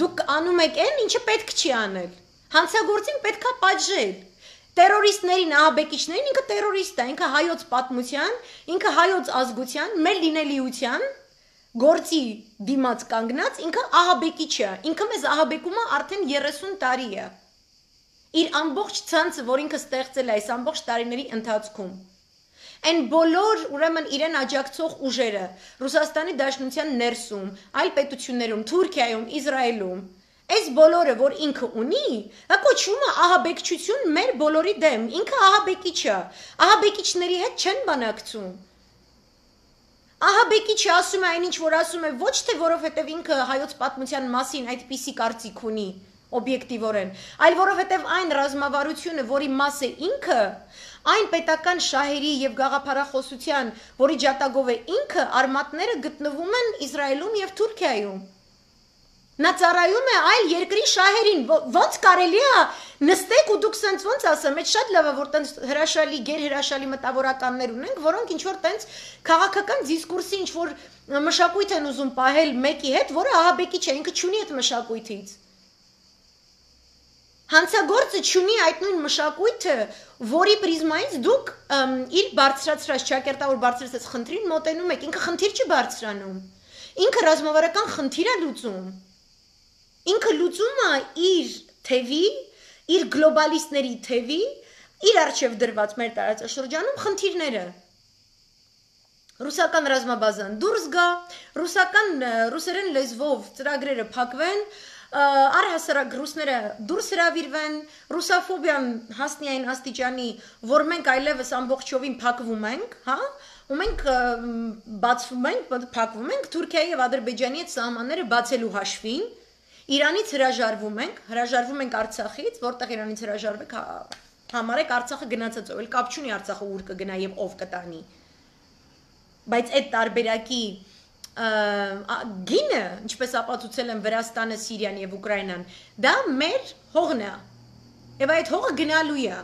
Դուք անում եք այն, ինչը պետք չի անել։ Հանցագործին պետքա պատժել։ Տերորիստներին, ահաբեկիչներին ինքը տերորիստ է, ինքը հայոց պատմության, ինքը հայոց ազգության, մեր լինելիության գործի դիմաց կանգնած, ինքը ահաբեկիչ է, ինքը մեզ ահաբեկում է արդեն 30 տարի է։ Իր ամբողջ ցանցը, որ ինքը ստեղծել է այս ամբողջ տարիների ընթացքում։ Այն բոլոր ուրեմն իրեն աջակցող ուժերը Ռուսաստանի Դաշնության ներսում, այլ պետություններում, Թուրքիայում, Իսրայելում, այս բոլորը, որ ինքը ունի, դա կոչվում է ահաբեկչություն մեր բոլորի դեմ, ինքը ահաբեկիչ է, ահաբեկիչների հետ չեն բանակցում։ Ահաբեկիչը ասում է այնինչ, որ ասում է, ոչ թե որովհետև ինքը հայոց պատմության մասին այդպիսի կարծիք ունի, օբյեկտիվորեն, այլ որովհետև այն ռազմավարությունը, որի մաս է ինքը, այն պետական շահերի եւ գաղափարախոսության, որի ջատագով է ինքը, արմատները գտնվում են Իսրայելում եւ Թուրքիայում։ Նա ծառայում է այլ երկրի շահերին, ոնց կարելի է նստեք ու դուք սենց ոնց ասեմ, այդ շատ լավ է, որ տենց հրաշալի, գերհրաշալի մտավորականներ ունենք, որոնք ինչ-որ տենց քաղաքական դիսկուրսի ինչ-որ մշակույթ են ուզում պահել մեկի հետ, որը ահաբեկիչ է, ինքը չունի այդ մշակույթից։ Հանցագործը չունի այդ նույն մշակույթը, որի պրիզմայից դուք իր բարձրացրած, ճակերտավոր բարձրացած խնդրին մոտենում եք, ինքը խնդիր չի բարձրանում, ինքը ռազմավարական խնդիր է լուծում, ինքը լուծում է իր թևի, իր գլոբալիստների թևի, իր առջև դրված մեր տարածաշրջանում խնդիրները։ Ռուսական ռազմաբազան դուրս գա, ռուսերեն լեզվով ծրագրերը փակվեն, առհասարակ ռուսները դուրս հրավիրվեն, ռուսաֆոբիան հասնի այն աստիճանի, որ մենք այլևս ամբողջովին փակվում ենք, հա, ու մենք բացվում ենք, փակվում ենք Թուրքիայի եւ Ադրբեջանի հետ սահմանները բացելու հաշվին, Իրանից հրաժարվում ենք Արցախից, որտեղ Իրանից հրաժարվեք, համարեք Արցախը գնացած, էլ կապ չունի Արցախը ուր կգնա եւ ով կտանի։ Բայց այդ տարբերակի գինը, ինչպես ապացուցել են Վրաստանը, Սիրիան եւ Ուկրաինան, դա մեր հողն է։ Եվ այդ հողը գնալու է։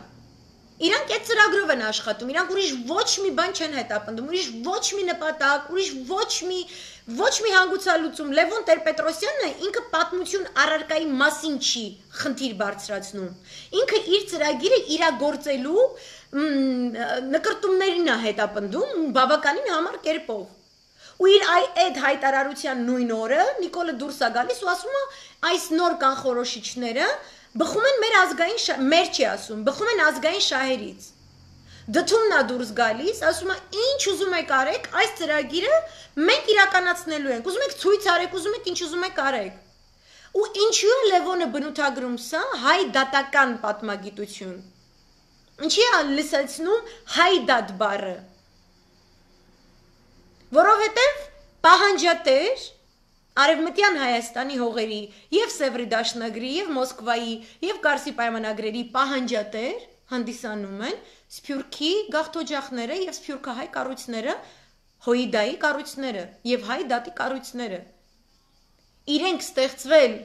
Իրանք այդ ծրագրով են աշխատում, իրանք ուրիշ ոչ մի բան չեն հետապնդում, ուրիշ ոչ մի նպատակ, ուրիշ ոչ մի հանգուցալուծում։ Լևոն Տեր-Պետրոսյանը ինքը պատմություն առարկայի մասին չի խնդիր բարձրացնում։ Ինքը իր ծրագիրը իրագործելու նկրտումներին է հետապնդում բավականին համառ կերպով։ Ու իր այդ հայտարարության նույն օրը Նիկոլը դուրս է գալիս ու ասում է այս նոր կանխորոշիչները բխում են մեր ազգային մեր չի ասում, բխում են ազգային շահերից։ Դդումն է դուրս գալիս, ասում է ինչ ուզում եք արեք, այս ծրագիրը մենք իրականացնելու ենք, ուզում եք ցույց արեք, ուզում եք ինչ ուզում եք արեք։ Ու ինչու է Լևոնը բնութագրում սա հայ դատական պատմագիտություն։ Ինչի է լսեցնում հայ դատ բառը։ Որովհետև պահանջատեր Արևմտյան Հայաստանի հողերի եւ Սևրի դաշնագրի եւ Մոսկվայի եւ Կարսի պայմանագրերի պահանջատեր հանդիսանում են Սփյուռքի գաղթօջախները եւ սփյուռքահայ կառույցները, Հոիդայի կառույցները եւ հայ դատի կառույցները։ Իրենք ստեղծվել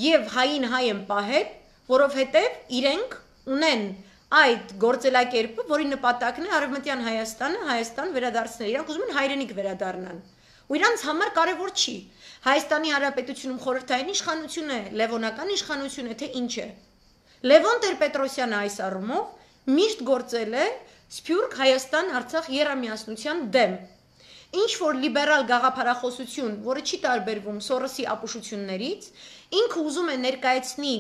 եւ հային հայ են պահել, որովհետև իրենք ունեն այդ գործելակերպը, որի նպատակն է Արևմտյան Հայաստան վերադարձնել, իրանք ուզում են հայրենիք վերադառնան։ Ու իրանց համար կարևոր չի Հայաստանի Հանրապետությունում խորհրդային իշխանություն է, լևոնական իշխանություն է, թե ինչ է։ Լևոն Տեր-Պետրոսյանը այս առումով միշտ գործել է Սփյուռք Հայաստան-Արցախ եռամիասնության դեմ։ Ինչ որ լիբերալ գաղափարախոսություն, որը չի տարբերվում Սորոսի ապուշություններից, ինքը ուզում է ներկայացնի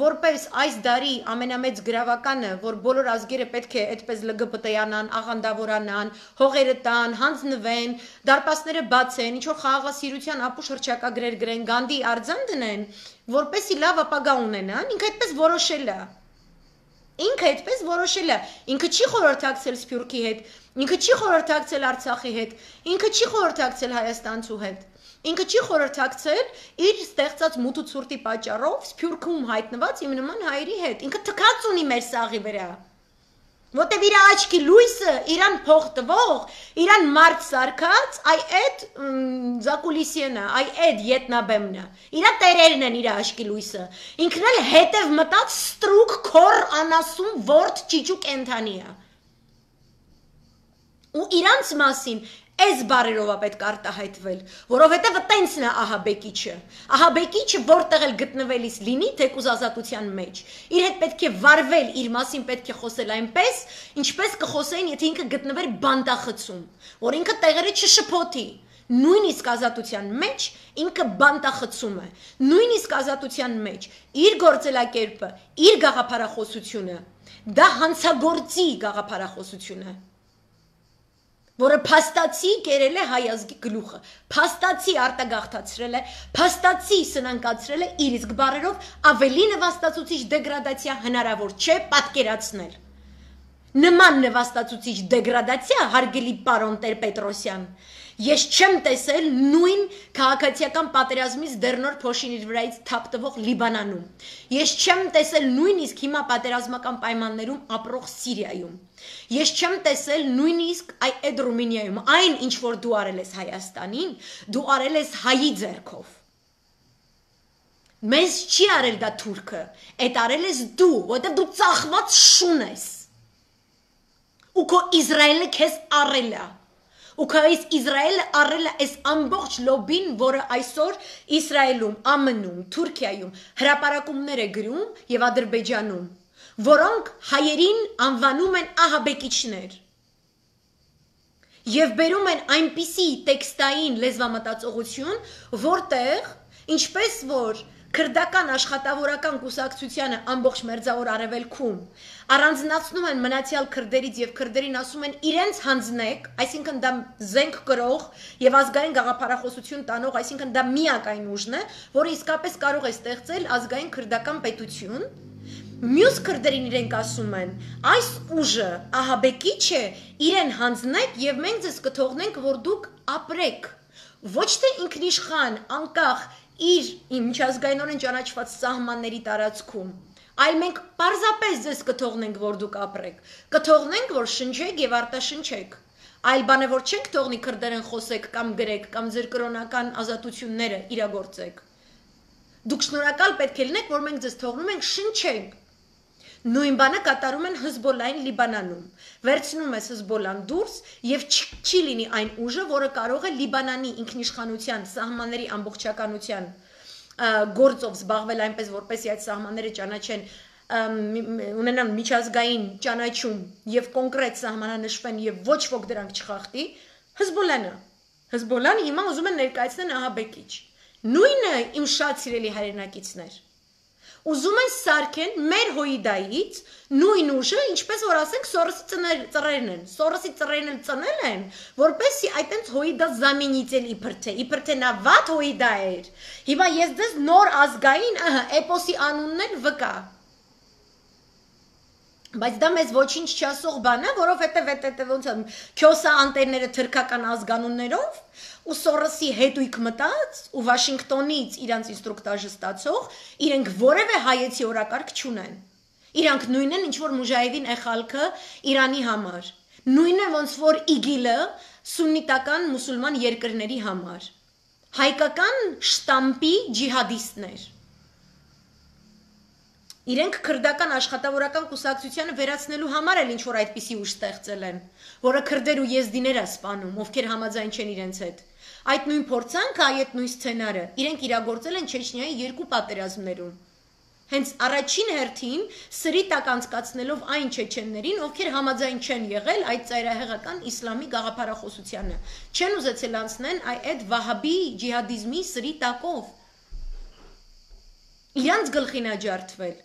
որպես այս դարի ամենամեծ գրավականը, որ բոլոր ազգերը պետք է այդպես ԼԳԲՏ-յանան, աղանդավորանան, հողերը տան, հանձնվեն, դարպասները բացեն, ինչ որ խաղաղասիրության ապուշ հռչակագրեր գրեն, Գանդի արձան դնեն, որպեսի լավ ապագա ունենան, ինքը այդպես որոշել է։ Ինքը այդպես որոշել է, ինքը չի խորհրդակցել Սփյուռքի հետ, ինքը չի խորհրդակցել Արցախի հետ, ինքը չի խորհրդակցել Հայաստանցու հետ, ինքը չի խորհրդակցել իր ստեղծած մութ ու ցուրտի պատճառով Սփյուռքում հայտնված իմ նման հայերի հետ, ինքը թքած ունի մեր սաղի վրա, որտեւ իր աչքի լույսը, իրան փող տվող, իրան մարդ սարքած, այ այդ զակուլիսիենը, այ այդ ետնաբեմնը, իրա տերերն են իր աչքի լույսը, ինքն էլ հետև մտած ստրուկ քոր անասուն ворդ ճիճու կենթանի է։ Ու իրանց մասին այս բարերով է պետք արտահայտվել, որովհետև տենցն է ահաբեկիչը որտեղ էլ գտնվելիս լինի թեկուզ ազատության մեջ, իր հետ պետք է վարվել, իր մասին պետք է խոսել այնպես, ինչպես կխոսեին, եթե ինքը գտնվեր բանտախցում, որ ինքը տեղերը չշփոթի, նույնիսկ ազատության մեջ ինքը բանտախցում է, նույնիսկ ազատության մեջ իր գործելակերպը, իր գաղափարախոսությունը, դա հանցագործի գաղափարախոսություն է, որը փաստացի կերել է հայ ազգի գլուխը, փաստացի արտագաղթացրել է, փաստացի սնանկացրել է իր իսկ բառերով ավելի նվաստացուցիչ դեգրադացիա հնարավոր չէ պատկերացնել։ Նման նվաստացուցիչ դեգրադացիա, հարգելի պարոն Տեր-Պետրոսյան, ես չեմ տեսել նույն քաղաքացիական պատերազմից դեռնոր փոշին իր վրայից թափ տվող Լիբանանում։ Ես չեմ տեսել նույնիսկ հիմա պատերազմական պայմաններում ապրող Սիրիայում։ Ես չեմ տեսել նույնիսկ այդ Ռումինիայում, այն ինչ որ դու արել ես Հայաստանին, դու արել ես հայի ձեռքով։ Մեզ չի արել դա թուրքը, այդ արել ես դու, որտեղ դու ծախված շուն ես։ Ու քո Իսրայելը քեզ առել է։ Ու քո Իսրայելը առել է այս ամբողջ լոբին, որը այսօր Իսրայելում, ԱՄՆ-ում, Թուրքիայում հրապարակումներ է գրում եւ Ադրբեջանում, որոնք հայերին անվանում են ահաբեկիչներ եւ բերում են այնպիսի տեքստային լեզվամտածողություն, որտեղ ինչպես որ քրդական աշխատավորական կուսակցությանը ամբողջ մերձավոր արևելքում առանձնացնում են մնացյալ քրդերից եւ քրդերին ասում են իրենց հանձնեք, այսինքն դա զենք կրող եւ ազգային գաղափարախոսություն տանող, այսինքն դա միակայն ուժն է, որը իսկապես կարող է ստեղծել ազգային քրդական պետություն։ Մյուս քրդերին իրենք ասում են, այս ուժը ահաբեկիչ է, իրեն հանձնեք եւ մենք ձեզ կթողնենք, որ դուք ապրեք։ Ոչ թե ինքնիշխան, անկախ իր միջազգայինորեն ճանաչված սահմանների տարածքում, այլ մենք պարզապես ձեզ կթողնենք, որ դուք ապրեք, կթողնենք, որ շնչեք եւ արտաշնչեք, այլ բան է, որ չենք թողնի քրդերեն խոսեք կամ գրեք կամ ձեր կրոնական ազատությունները իրագործեք։ Դուք շնորհակալ պետք է լինեք, որ մենք ձեզ թողնում ենք շնչենք։ Նույն բանը կատարում են Հզբոլլահին Լիբանանում։ Վերցնում ես Հզբոլլան դուրս եւ չի լինի այն ուժը, որը կարող է Լիբանանի ինքնիշխանության սահմանների ամբողջականության գործով զբաղվել այնպես, որպեսզի այդ սահմանները ճանաչեն, ունենան միջազգային ճանաչում եւ կոնկրետ սահմանանշվեն եւ ոչ ոք դրանք չխախտի, Հզբոլլան հիմա ուզում են ներկայացնել ահաբեկիչ։ Նույնը իմ շատ սիրելի հայրենակիցներ։ Ուզում են սարքեն մեր հոիդայից նույն ուժը, ինչպես որ ասենք Սորոսի ծռերն են։ Սորոսի ծռերն էլ ծնել են, որպեսզի այտենց հոիդա զամենիցել իբր թե նա վատ հոիդա էր։ Հիմա ես դες նոր ազգային, էպոսի անունն էլ վկա։ Բայց դա մեզ ոչինչ չասող բան է, որովհետև ոնց է քյոսա անտերները թրքական ազգանուններով ու Սորոսի հետույք մտած ու Վաշինգտոնից իրանց ինստրուկտաժը ստացող իրենք որևէ հայեցի օրակարգ չունեն։ Իրանք նույնն են, ինչ որ Մուժահեդին Էխալքը Իրանի համար։ Նույնն է, ոնց որ ԻԳԻԼ-ը սուննիտական մուսուլման երկրների համար։ Հայկական շտամպի ջիհադիստներ։ Իրենք քրդական աշխատավորական կուսակցությանը վերացնելու համար էլ ինչ-որ այդպիսի ուժ ստեղծել են, որը քրդեր ու եզդիներ է սպանում, ովքեր համաձայն չեն իրենց հետ։ Այդ նույն փորձանքը, այդ նույն սցենարը իրենք իրագործել են Չեչնիայի 2 պատերազմներում։ Հենց առաջին հերթին սրի տակ անցկացնելով այն չեչեններին, ովքեր համաձայն չեն եղել այդ ծայրահեղական իսլամի գաղափարախոսությանը, չեն ուզեցել անցնեն այդ վահաբի ջիհադիզմի սրի տակով։ Իրանց գլխին աջարդվել։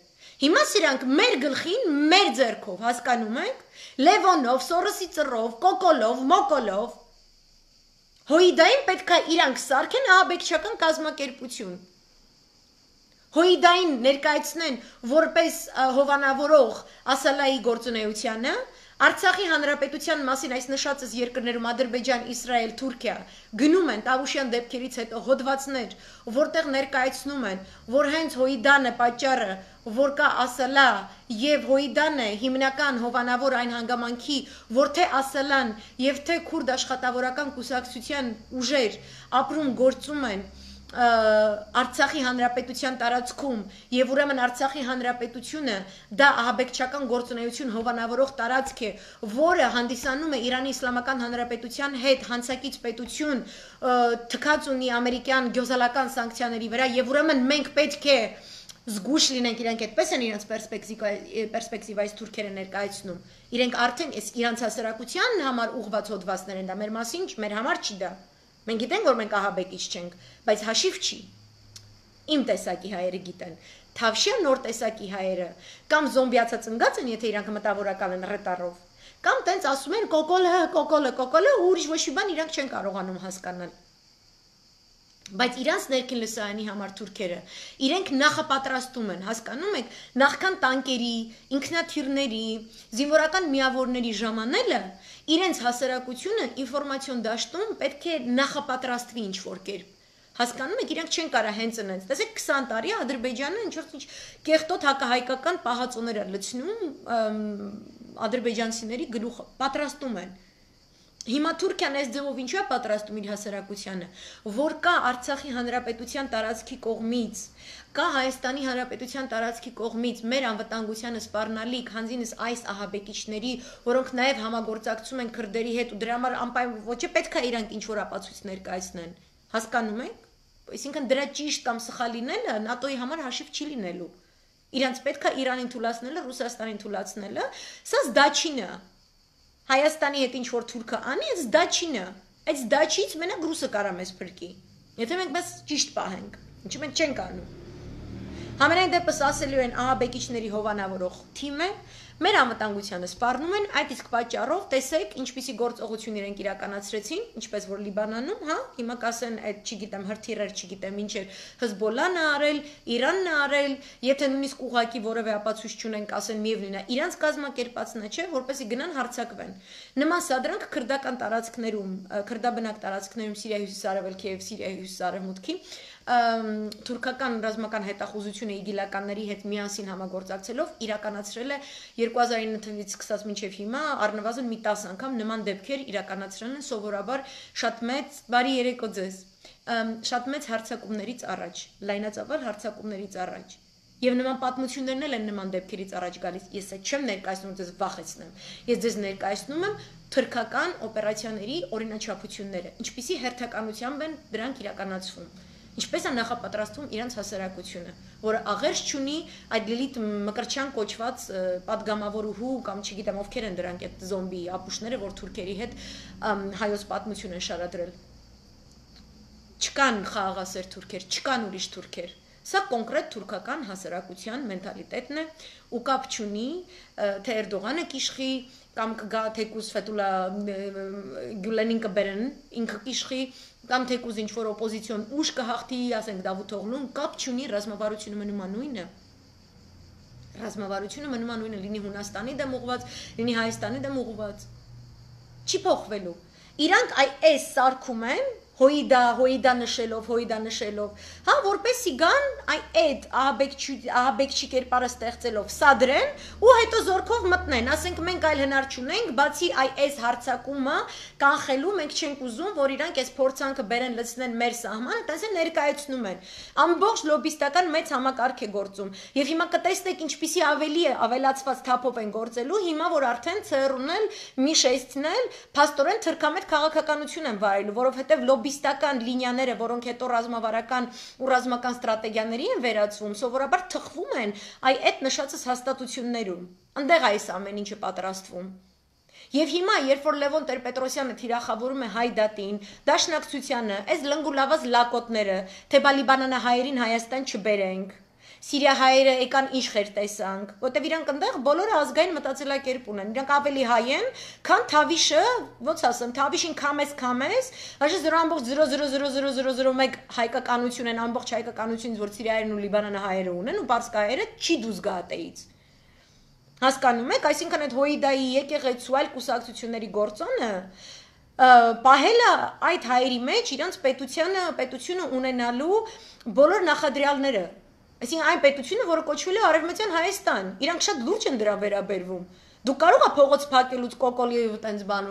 Հիմա սրանք մեր գլխին, մեր ձեռքով, հասկանում եք, Լևոնով, Սորոսի ծռով, կոկոլով, մոկոլով, Հոիդային պետք է իրանք սարքեն ահաբեկչական կազմակերպություն։ Հոիդային ներկայացնեն որպես հովանավորող Ասալայի գործունեությանը, Արցախի հանրապետության մասին այս նշածս երկրներում Ադրբեջան, Իսրայել, Թուրքիա գնում են Տավուշյան դեպքերից հետո հոդվածներ, որտեղ ներկայացնում են, որ հենց Հոիդանը պատճառը, որ կա Ասալա եւ Հոիդանը հիմնական հովանավոր այն հանգամանքի, որ թե Ասալան եւ թե քուրդ աշխատավորական կուսակցության ուժեր ապրում գործում են Արցախի հանրապետության տարածքում եւ ուրեմն Արցախի հանրապետությունը դա ահաբեկչական գործունեություն հովանավորող տարածք է, որը հանդիսանում է Իրանի Իսլամական Հանրապետության հետ հանցակից պետություն թքած ունի ամերիկյան գյոզալական սանկցիաների վրա եւ ուրեմն մենք պետք է զգուշ լինենք, իրանք այդպես են իրենց պերսպեկտիվայից թուրքերը ներկայացնում։ Իրենք արդեն իրանց հասարակության համար ուղղված հոդվածներ են, դա մեր մասին, մեր համար չի դա։ Մենք գիտենք, որ մենք ահաբեկիչ չենք, բայց հաշիվ չի։ Իմ տեսակի հայերը գիտեն։ Թավշյա նոր տեսակի հայերը կամ զոմբիացած ընկած են, եթե իրանք մտավորական են ռետարով, կամ տենց ասում են կոկոլը, ու ուրիշ ոչ մի բան իրանք չեն կարողանում հասկանալ։ Բայց իրանց ներքին լսարանի համար թուրքերը իրենք նախապատրաստում են, հասկանում եք, նախքան տանկերի, ինքնաթիռների, զինվորական միավորների ժամանելը իրենց հասարակությունը ինֆորմացիոն դաշտում պետք է նախապատրաստվի ինչ-որ կերպ։ Հասկանում եք, իրենք չեն կարա հենց ընենց։ Տեսեք 20 տարի Ադրբեջանը ինչ-որ կեղտոտ հակահայկական պահածոներ է լցնում ադրբեջանցիների գլուխը, պատրաստում են։ Հիմա Թուրքիան այս ձևով ինչու է պատրաստում իր հասարակությանը, որ կա Արցախի հանրապետության տարածքի կողմից, կա Հայաստանի հանրապետության տարածքի կողմից մեր անվտանգությանը սպառնալիք հանձինս այս ահաբեկիչների, որոնք նաև համագործակցում են քրդերի հետ ու դրա համար անպայման ոչ է պետք է իրանք ինչ-որ ապացույց ներկայացնեն։ Հասկանում եք։ Այսինքն դրա ճիշտ կամ սխալ լինելը ՆԱՏՕ-ի համար հաշիվ չի լինելու։ Իրանց պետք է Իրանին թուլացնելը, Ռուսաստանին թուլացնելը, սա դաչինը։ Հայաստանի հետ ինչ-որ թուրքը անի, այս դաչինը, այս դաչից մենակ ռուսը կարա մեզ փրկի, եթե մենք մեզ ճիշտ պահենք, ինչը մենք չենք անում։ Համենայն դեպս ասելու են ահաբեկիչների հովանավորող թիմը, մեր անվտանգությանը սպառնում են, այդ իսկ պատճառով տեսեք ինչպիսի գործողություն իրենք իրականացրեցին, ինչպես որ Լիբանանում, հա, հիմա կասեն այդ չգիտեմ հրթիռեր, չգիտեմ ինչեր Հեզբոլլան է արել, Իրանն է արել, եթե նույնիսկ ուղակի որևէ ապացույց չունեն, կասեն միևնույն է, իրանց կազմակերպածն է, չէ, որպեսզի գնան հարձակվեն։ Նման սադրանք քրդական տարածքներում, քրդաբնակ տարածքներում Սիրիայի հյուսիսարևելքի եւ Սիրիայի հյուսիսարևմուտքի թուրքական ռազմական հետախուզությունը իգիլականների հետ միասին համագործակցելով իրականացրել է 2009 թվականից սկսած մինչև հիմա առնվազն մի 10 անգամ նման դեպքեր իրականացրել են սովորաբար շատ մեծ բարի երեկո ձեզ շատ մեծ հարձակումներից առաջ, լայնածավալ հարձակումներից առաջ եւ նման պատմություններն էլ են նման դեպքերից առաջ գալիս։ Ես այդ չեմ ներկայացնում ձեզ վախեցնեմ։ Ես ձեզ ներկայացնում եմ թուրքական օպերացիաների օրինաչափությունները, ինչպիսի հերթականությամբ են դրանք իրականացվում։ Ինչպես է նախապատրաստվում իրանց հասարակությունը, որը աղերս չունի այդ Լիլիթ Մկրտչյան կոչված պատգամավորուհու կամ չգիտեմ ովքեր են դրանք այդ զոմբի ապուշները, որ թուրքերի հետ հայոց պատմություն են շարադրել։ Չկան խաղաղասեր թուրքեր, չկան ուրիշ թուրքեր։ Սա կոնկրետ թուրքական հասարակության մենտալիտետն է ու կապ չունի, թե Էրդողանը կիշխի կամ կգա թեկուզ Ֆեթուլա Գյուլենին կբերեն, ինքը կիշխի կամ թեկուզ ինչ-որ օպոզիցիոն ուժ կհաղթի, ասենք Դավութ Օղլուն, կապ չունի, ռազմավարությունը մնում նույնն է։ Ռազմավարությունը մնում նույնը, լինի Հունաստանի դեմ ուղղված, լինի Հայաստանի դեմ ուղղված։ Չի փոխվելու։ Իրանք այս սարքում են հոիդա նշելով, հա, որպեսի գան այդ ահաբեկչի կերպարը ստեղծելով սադրեն ու հետո զորքով մտնեն, ասենք մենք այլ հնար չունենք, բացի այս հարցակումը կանխելու, մենք չենք ուզում, որ իրանք այս փորձանքը բերեն լցնեն մեր սահմանը, այդպես ներկայացնում են։ Ամբողջ լոբիստական մեծ համակարգ է գործում։ Եվ հիմա կտեսնեք ինչպիսի ավելի է ավելացված թափով են գործելու, հիմա որ արդեն ցերունել, միշեստնել, փաստորեն թրքամետ քաղաքականություն են վարելու, որովհետև լոբիստական լինիաները, որոնք հետո ռազմավարական ու ռազմական ստրատեգիաների են վերածվում, սովորաբար թխվում են այդ նշածս հաստատություններում։ Այնտեղ այս ամեն ինչը պատրաստվում։ Եվ հիմա, երբ որ Լևոն Տեր-Պետրոսյանը թիրախավորում է Հայդատին, Դաշնակցությանը, այս լնգուլավազ լակոտները, թե բալիբանանահայերին Հայաստան չբերենք, Սիրիահայերը եկան ինչ խեր տեսանք, որտեվ իրանք այնտեղ բոլորը ազգային մտածելակերպ ունեն, իրանք ավելի հայ են, քան Թավիշը, ոնց ասեմ, Թավիշին քամես, հաշը 0.00001 հայկականություն են, ամբողջ հայկականությունից, որ Սիրիայերն ու Լիբանանահայերը ունեն, ու պարսկահայերը չի դուզ գա ատեից։ Հասկանում եք, այսինքն այդ հոիդայի եկեղեցու այլ կուսակցությունների գործոնը պահելը այդ հայերի մեջ իրանց պետությունը ունենալու բոլոր նախադրյալները, այսինքն այն պետությունը, որը կոչվել է Արևմտյան Հայաստան, իրանք շատ լուրջ են դրա վերաբերվում։ Դու կարող ես փողոց փակելուց կոկոլի ու տենց բան,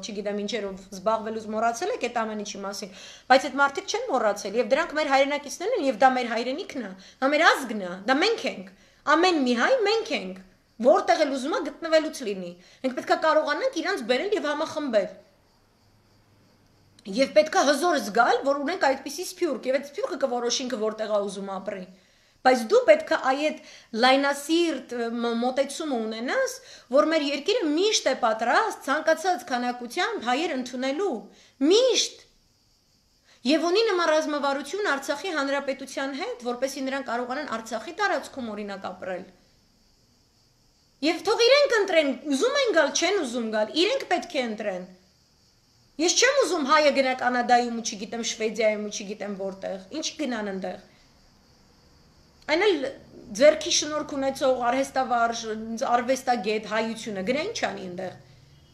չգիտեմ ինչերով զբաղվելուց մոռացել եք այդ ամեն ինչի մասին, բայց այդ մարդիկ չեն մոռացել եւ դրանք մեր հայրենակիցներն են եւ դա մեր հայրենիքն է, դա մեր ազգն է, դա մենք ենք։ Ամեն մի հայ մենք ենք, որտեղ էլ ուզում է գտնվելուց լինի։ Մենք պետք է կարողանանք իրանց բերել եւ համախմբել։ Եվ պետք է հզոր զգալ, որ ունենք այդպիսի սփյուռք, եւ այդ սփյուռքը կորոշի ինքը որտեղ է ուզում ապրի։ Բայց դու պետք է այդ լայնասիրտ մոտեցումը ունենաս, որ մեր երկիրը միշտ է պատրաստ ցանկացած քանակությամբ հայեր ընդունելու, միշտ։ Եվ ունի նման ռազմավարություն Արցախի հանրապետության հետ, որպեսզի նրանք կարողանան Արցախի տարածքում օրինակ ապրել։ Եվ թող իրենք ընտրեն, ուզում են գալ, չեն ուզում գալ, իրենք պետք է ընտրեն։ Ես չեմ ուզում հայը գնա Կանադայում ու չգիտեմ Շվեդիայում ու չգիտեմ որտեղ, ինչ գնան այնտեղ։ Այն էլ ձերքի շնորհք ունեցող արհեստավարժ, արվեստագետ հայությունը գնա ինչ անի այնտեղ։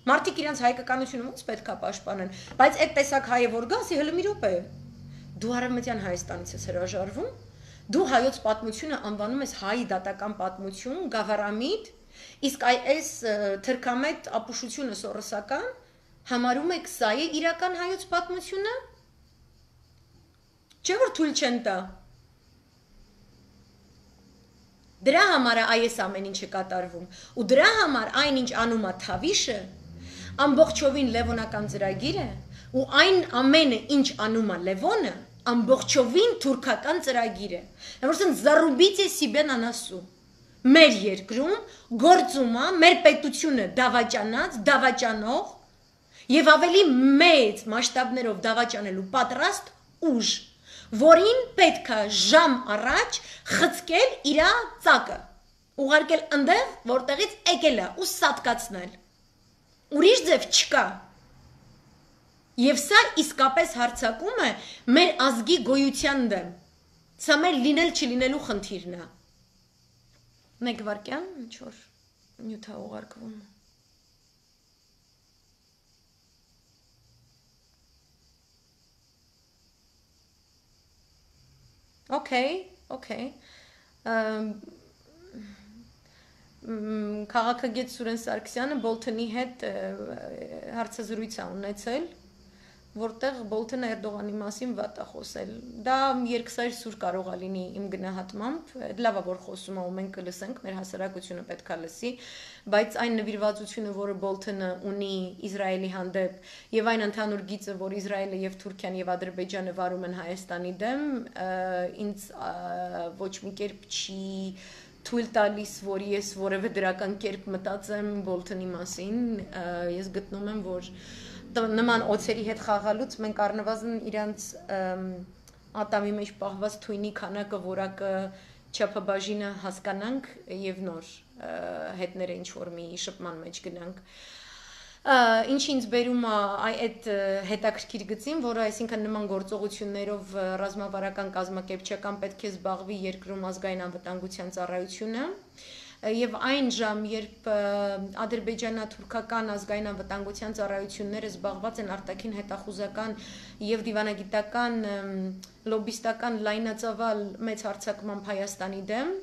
Մարդիկ իրենց հայկականությունը ոնց պետք է պաշտպանեն, բայց այդ տեսակ հայը որ գա, ասի հələ մի րոպե։ Դու Արևմտյան Հայաստանից ես հրաժարվում, դու հայոց պատմությունը անվանում ես հայ դատական պատմություն, գավառամիտ, իսկ այս թրքամետ ապուշությունը սորոսական համարում եք սա է իրական հայոց պատմությունը։ Չէ՞ որ թույլ չեն տա։ Դրա համար այս ամեն ինչը կատարվում, ու դրա համար այնինչ անում է Թավիշը, ամբողջովին լևոնական ծրագիր է, ու այն ամենը, ինչ անում է Լևոնը, ամբողջովին թուրքական ծրագիր է։ Որովհետև զարուբիցե սիբեն անասու։ Մեր երկրում գործում է մեր պետությունը դավաճանած, դավաճանող եւ ավելի մեծ մասշտաբներով դավաճանելու պատրաստ ուժ, որին պետք է ժամ առաջ խցկել իր ծակը, ուղարկել այնտեղ, որտեղից եկել է ու սատկացնել։ Ուրիշ ձև չկա։ Եվ սա իսկապես հարձակում է մեր ազգի գոյության դեմ։ Սա մեր լինել չլինելու խնդիրն է։ Մեկ վարքյան, ինչ որ նյութ է ուղարկվում։ Okay. Քաղաքագետ Սուրեն Սարգսյանը Բոլթոնի հետ հարցազրույց է ունեցել, որտեղ Բոլթոնը Էրդողանի մասին վատ է խոսել։ Դա երկսայր սուր կարող է լինի իմ գնահատմամբ, լավ է որ խոսում է ու մենք կլսենք, մեր հասարակությունը պետք է լսի, բայց այն նվիրվածությունը, որը Բոլթոնը ունի Իսրայելի հանդեպ եւ այն ընդհանուր գիծը, որ Իսրայելը եւ Թուրքիան եւ Ադրբեջանը վարում են Հայաստանի դեմ, ինձ ոչ մի կերպ չի թույլ տալիս, որ ես որևէ դրական կերպ մտածեմ Բոլթոնի մասին, ես գտնում եմ, որ նման օծերի հետ խաղալուց մենք առնվազն իրանց ատամի մեջ պահված թույնի քանակը, որակը, չափաբաժինը հասկանանք եւ նոր հետները ինչ որ մի շփման մեջ գնանք։ Ինչ ինձ բերում է այդ հետաքրքիր գծին, որը այսինքն նման գործողություններով ռազմավարական կազմակերպչական պետք է զբաղվի երկրում ազգային անվտանգության ծառայությունը, եւ այն ժամ, երբ ադրբեջանա-թուրքական ազգային անվտանգության ծառայությունները զբաղված են արտաքին հետախուզական եւ դիվանագիտական լոբիստական լայնածավալ մեծ հարձակմամբ Հայաստանի դեմ,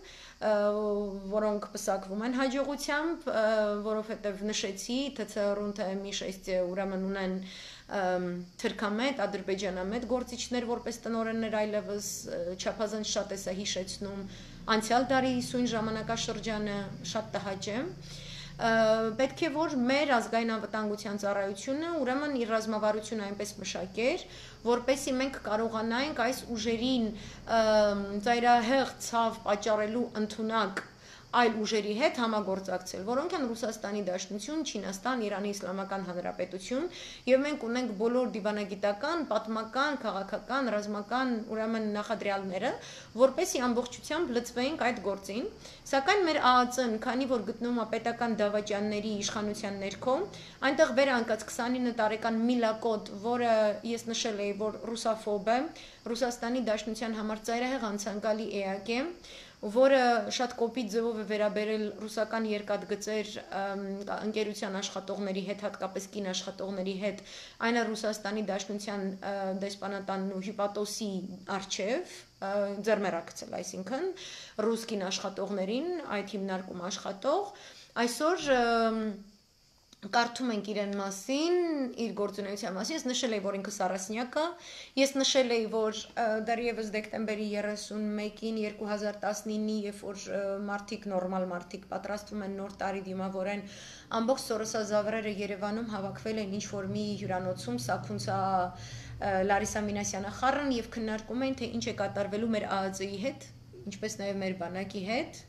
որոնք պսակվում են հաջողությամբ, որովհետև նշեցի, ԹՑ-ըռուն թե մի 6 ուրեմն ունեն թրքամետ, ադրբեջանամետ գործիչներ, որպես տնօրեններ այլևս չափազանց շատ է սա հիշեցնում անցյալ դարի սույն ժամանակաշրջանը, շատ տհաճ է։ Պետք է որ մեր ազգային անվտանգության ծառայությունը ուրեմն իր ռազմավարությունը այնպես մշակեր, որպեսզի մենք կարողանայինք այս ուժերին ծայրահեղ ցավ պատճառելու ընդունակ այլ ուժերի հետ համագործակցել, որոնք են Ռուսաստանի Դաշնություն, Չինաստան, Իրանի Իսլամական Հանրապետություն, եւ մենք ունենք բոլոր դիվանագիտական, պատմական, քաղաքական, ռազմական ուրեմն նախադրյալները, որպեսզի ամբողջությամբ լծվեինք այդ գործին, սակայն մեր ԱԱԾ-ն, քանի որ գտնվում է պետական դավաճանների իշխանության ներքո, այնտեղ վեր անկած 29 տարեկան Միլակոտ, որը ես նշել էի, որ ռուսաֆոբ է, Ռուսաստանի Դաշնության համար ծայրահեղ անցանկալի էակ է, որը շատ կոպիտ ձևով է վերաբերել ռուսական երկաթգծեր ընկերության աշխատողների հետ, հատկապես կին աշխատողների հետ, այն է Ռուսաստանի Դաշնության դեսպանատանն ու հյուպատոսի առջև ձեռմեռակցել, այսինքն ռուս կին աշխատողներին, այդ հիմնարկում աշխատող, այսօր կարդում ենք իրեն մասին, իր գործունեության մասին, ես նշել էի, որ ինքս առասնյակ է, ես նշել էի, որ դեռևս դեկտեմբերի 31-ին 2019-ի, երբ որ մարդիկ, նորմալ մարդիկ պատրաստվում են նոր տարի դիմավորեն, ամբողջ Սորոսազավրերը Երևանում հավաքվել են ինչ-որ մի հյուրանոցում, Սաքունցա Լարիսա Մինասյանը խառն եւ քննարկում էին, թե ինչ է կատարվելու մեր ԱԱԾ-ի հետ, ինչպես նաեւ մեր բանակի հետ։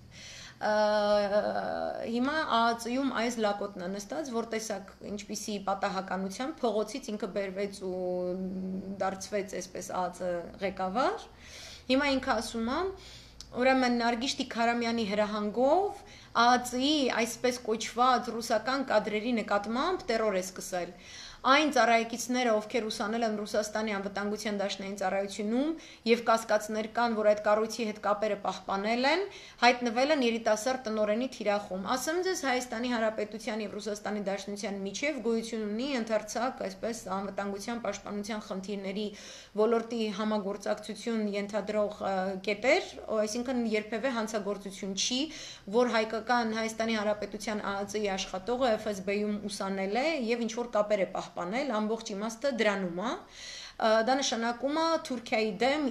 Հիմա ԱԱԾ-ում այս լակոտն է նստած, որ տեսակ ինչպիսի պատահականությամբ փողոցից ինքը բերվեց ու դարձվեց այսպես ԱԱԾ ղեկավար։ Հիմա ինքը ասում է, ուրեմն Նարգիշտի Քարամյանի հրահանգով ԱԱԾ-ի այսպես կոչված ռուսական կադրերի նկատմամբ տերոր է սկսել։ Այն ծառայեկիցները, ովքեր ուսանել են Ռուսաստանի անվտանգության դաշնային ծառայությունում եւ կասկածներ կան, որ այդ կառույցի հետ կապերը պահպանել են, հայտնվել են երիտասարդ տնօրենի թիրախում։ Ասեմ ձեզ, Հայաստանի Հանրապետության եւ Ռուսաստանի Դաշնության միջև գոյություն ունի ընդարձակ այսպես անվտանգության պաշտպանության խնդիրների ոլորտի համագործակցություն ենթադրող կետեր, այսինքն երբևէ հանցագործություն չի, որ հայկական Հայաստանի Հանրապետության ԱԱԾ-ի աշխատողը FSB-ում ուսանել է եւ ինչ որ կապեր է պահպանել, ամբողջ իմաստը դրանում է։ Դա նշանակում է Թուրքիայի դեմ,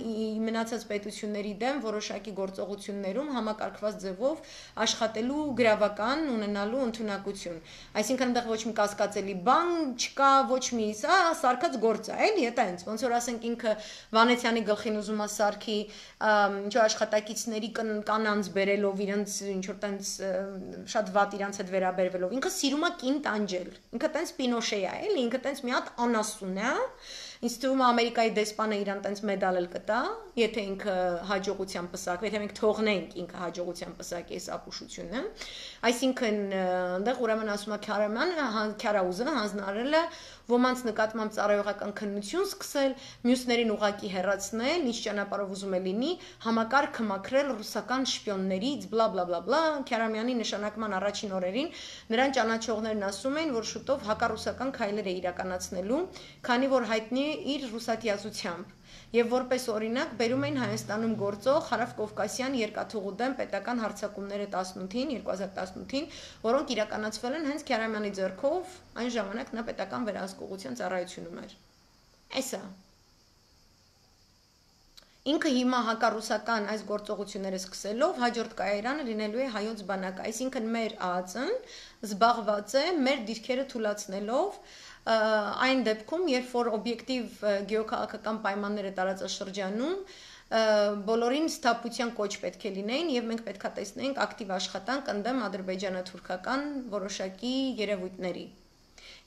մնացած պետությունների դեմ որոշակի գործողություններում համակարգված ձևով աշխատելու գրավական ունենալու ընդունակություն։ Այսինքն այնտեղ ոչ մի կասկածելի բան չկա, ոչ մի սա սարկած գործ է, էլի, դա այնց, ոնց որ ասենք ինքը Վանեցյանի գլխին ուզում է սարքի ինչ աշխատակիցների կանանց բերելով իրենց ինչ որ տենց շատ վատ իրանց հետ վերաբերվելով։ Ինքը սիրում է կին տանջել։ Ինքը տենց Պինոշե է, էլի, ինքը տենց մի հատ անասուն է, ինձ թվում է Ամերիկայի դեսպանը իրան տենց մեդալ էլ կտա, եթե ինքը հաջողությամբ պսակվի, եթե մենք թողնենք ինքը հաջողությամբ պսակի այս ապուշությունը, այսինքն այնտեղ ուրեմն ասում է Քյարաուզը հանձնարարել է ոմանց նկատմամբ ծառայողական քննություն սկսել, մյուսներին ուղակի հեռացնել, ինչ ճանապարհով ուզում է լինի, համակարգը մաքրել ռուսական շպիոններից, բլա բլա բլա բլա, Քյարամյանի նշանակման առաջին օրերին նրան ճանաչողներն ասում էին, որ շուտով հակառուսական քայլեր է իրականացնելու, քանի որ հայտնի է իր ռուսատիազությամբ։ Եվ որպես օրինակ բերում էին Հայաստանում գործող Հարավկովկասյան երկաթուղու դեմ պետական հարձակումները 2018-ին, որոնք իրականացվել են հենց Քյարամյանի ձեռքով, այն ժամանակ նա պետական վերահսկողության ծառայությունում էր։ Էսա։ Ինքը հիմա հակառուսական այս գործողությունները սկսելով հաջորդ կայարանը լինելու է հայոց բանակը, այսինքն մեր ԱԱԾ-ն զբաղված է մեր դիրքերը թուլացնելով այն դեպքում, երբ որ օբյեկտիվ գեոքաղաքական պայմանները տարածաշրջանում բոլորին սթափության կոչ պետք է լինեին եւ մենք պետք է տեսնենք ակտիվ աշխատանք ընդդեմ ադրբեջանա-թուրքական որոշակի երևույթների։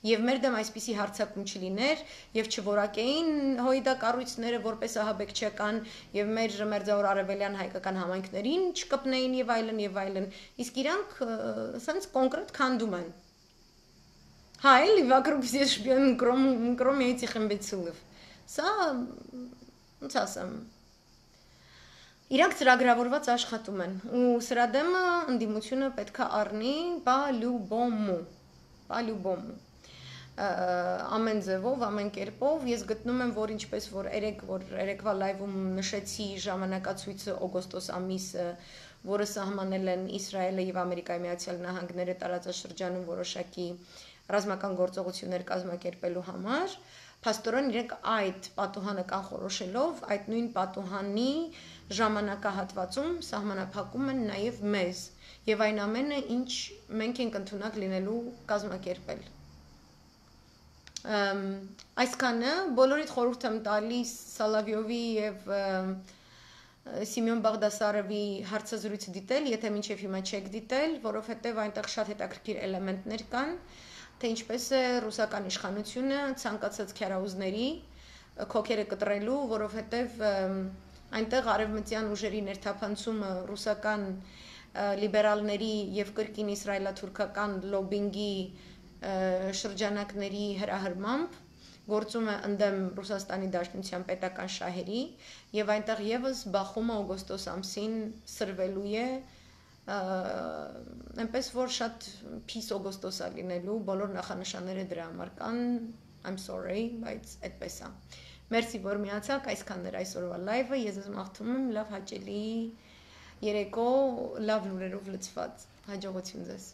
Եվ մեր դեմ այսպիսի հարձակում չլիներ եւ չորակեին հույդա կառույցները որպես ահաբեկչական եւ մեր մերձավոր արևելյան հայկական համայնքներին չկպնեին եւ այլն, իսկ իրանք ասենց կոնկրետ քանդում են։ Հա, էլի вокруг все шпионы, кроме этих имбецилов։ Սա ոնց ասեմ։ Իրանք ծրագրավորված աշխատում են ու սրա դեմը ընդդիմությունը պետք է առնի բալյուբոմու ամեն ձևով, ամեն կերպով ես գտնում եմ, որ ինչպես որ երեկվա լայվում նշեցի ժամանակացույցը օգոստոս ամիսը, որը սահմանել են Իսրայելը եւ Ամերիկայի Միացյալ Նահանգները տարածաշրջանում որոշակի ռազմական գործողություններ կազմակերպելու համար, փաստորեն իրենք այդ պատուհանը կանխորոշելով, այդ նույն պատուհանի ժամանակահատվածում սահմանափակում են նաև մեզ եւ այն ամենը, ինչ մենք ենք ընդունակ լինելու կազմակերպել։ Այսքանը բոլորիդ խորհուրդ եմ տալիս Սալավյովի եւ Սիմեոն Բաղդասարովի հարցազրույցը դիտել, եթե մինչև հիմա չեք դիտել, որովհետեւ այնտեղ շատ հետաքրքիր էլեմենտներ կան, թե ինչպես է ռուսական իշխանությունը ցանկացած քյարաուզների քոքերը կտրելու, որովհետեւ այնտեղ արևմտյան ուժերի ներթափանցումը ռուսական լիբերալների եւ կրկին իսրայելա-թուրքական լոբինգի շրջանակների հրահրմամբ գործում է ընդդեմ Ռուսաստանի Դաշնության պետական շահերի եւ այնտեղ եւս բախումը օգոստոս ամսին սրվելու է այնպես որ շատ փիս օգոստոս է լինելու բոլոր նախանշանները դրա համար կան I'm sorry բայց այդպես է Մերսի որ միացաք այսքանն էր այսօրվա լայվը ես ձեզ մաղթում եմ լավ հաճելի երեկո լավ լուրերով լցված հաջողություն ձեզ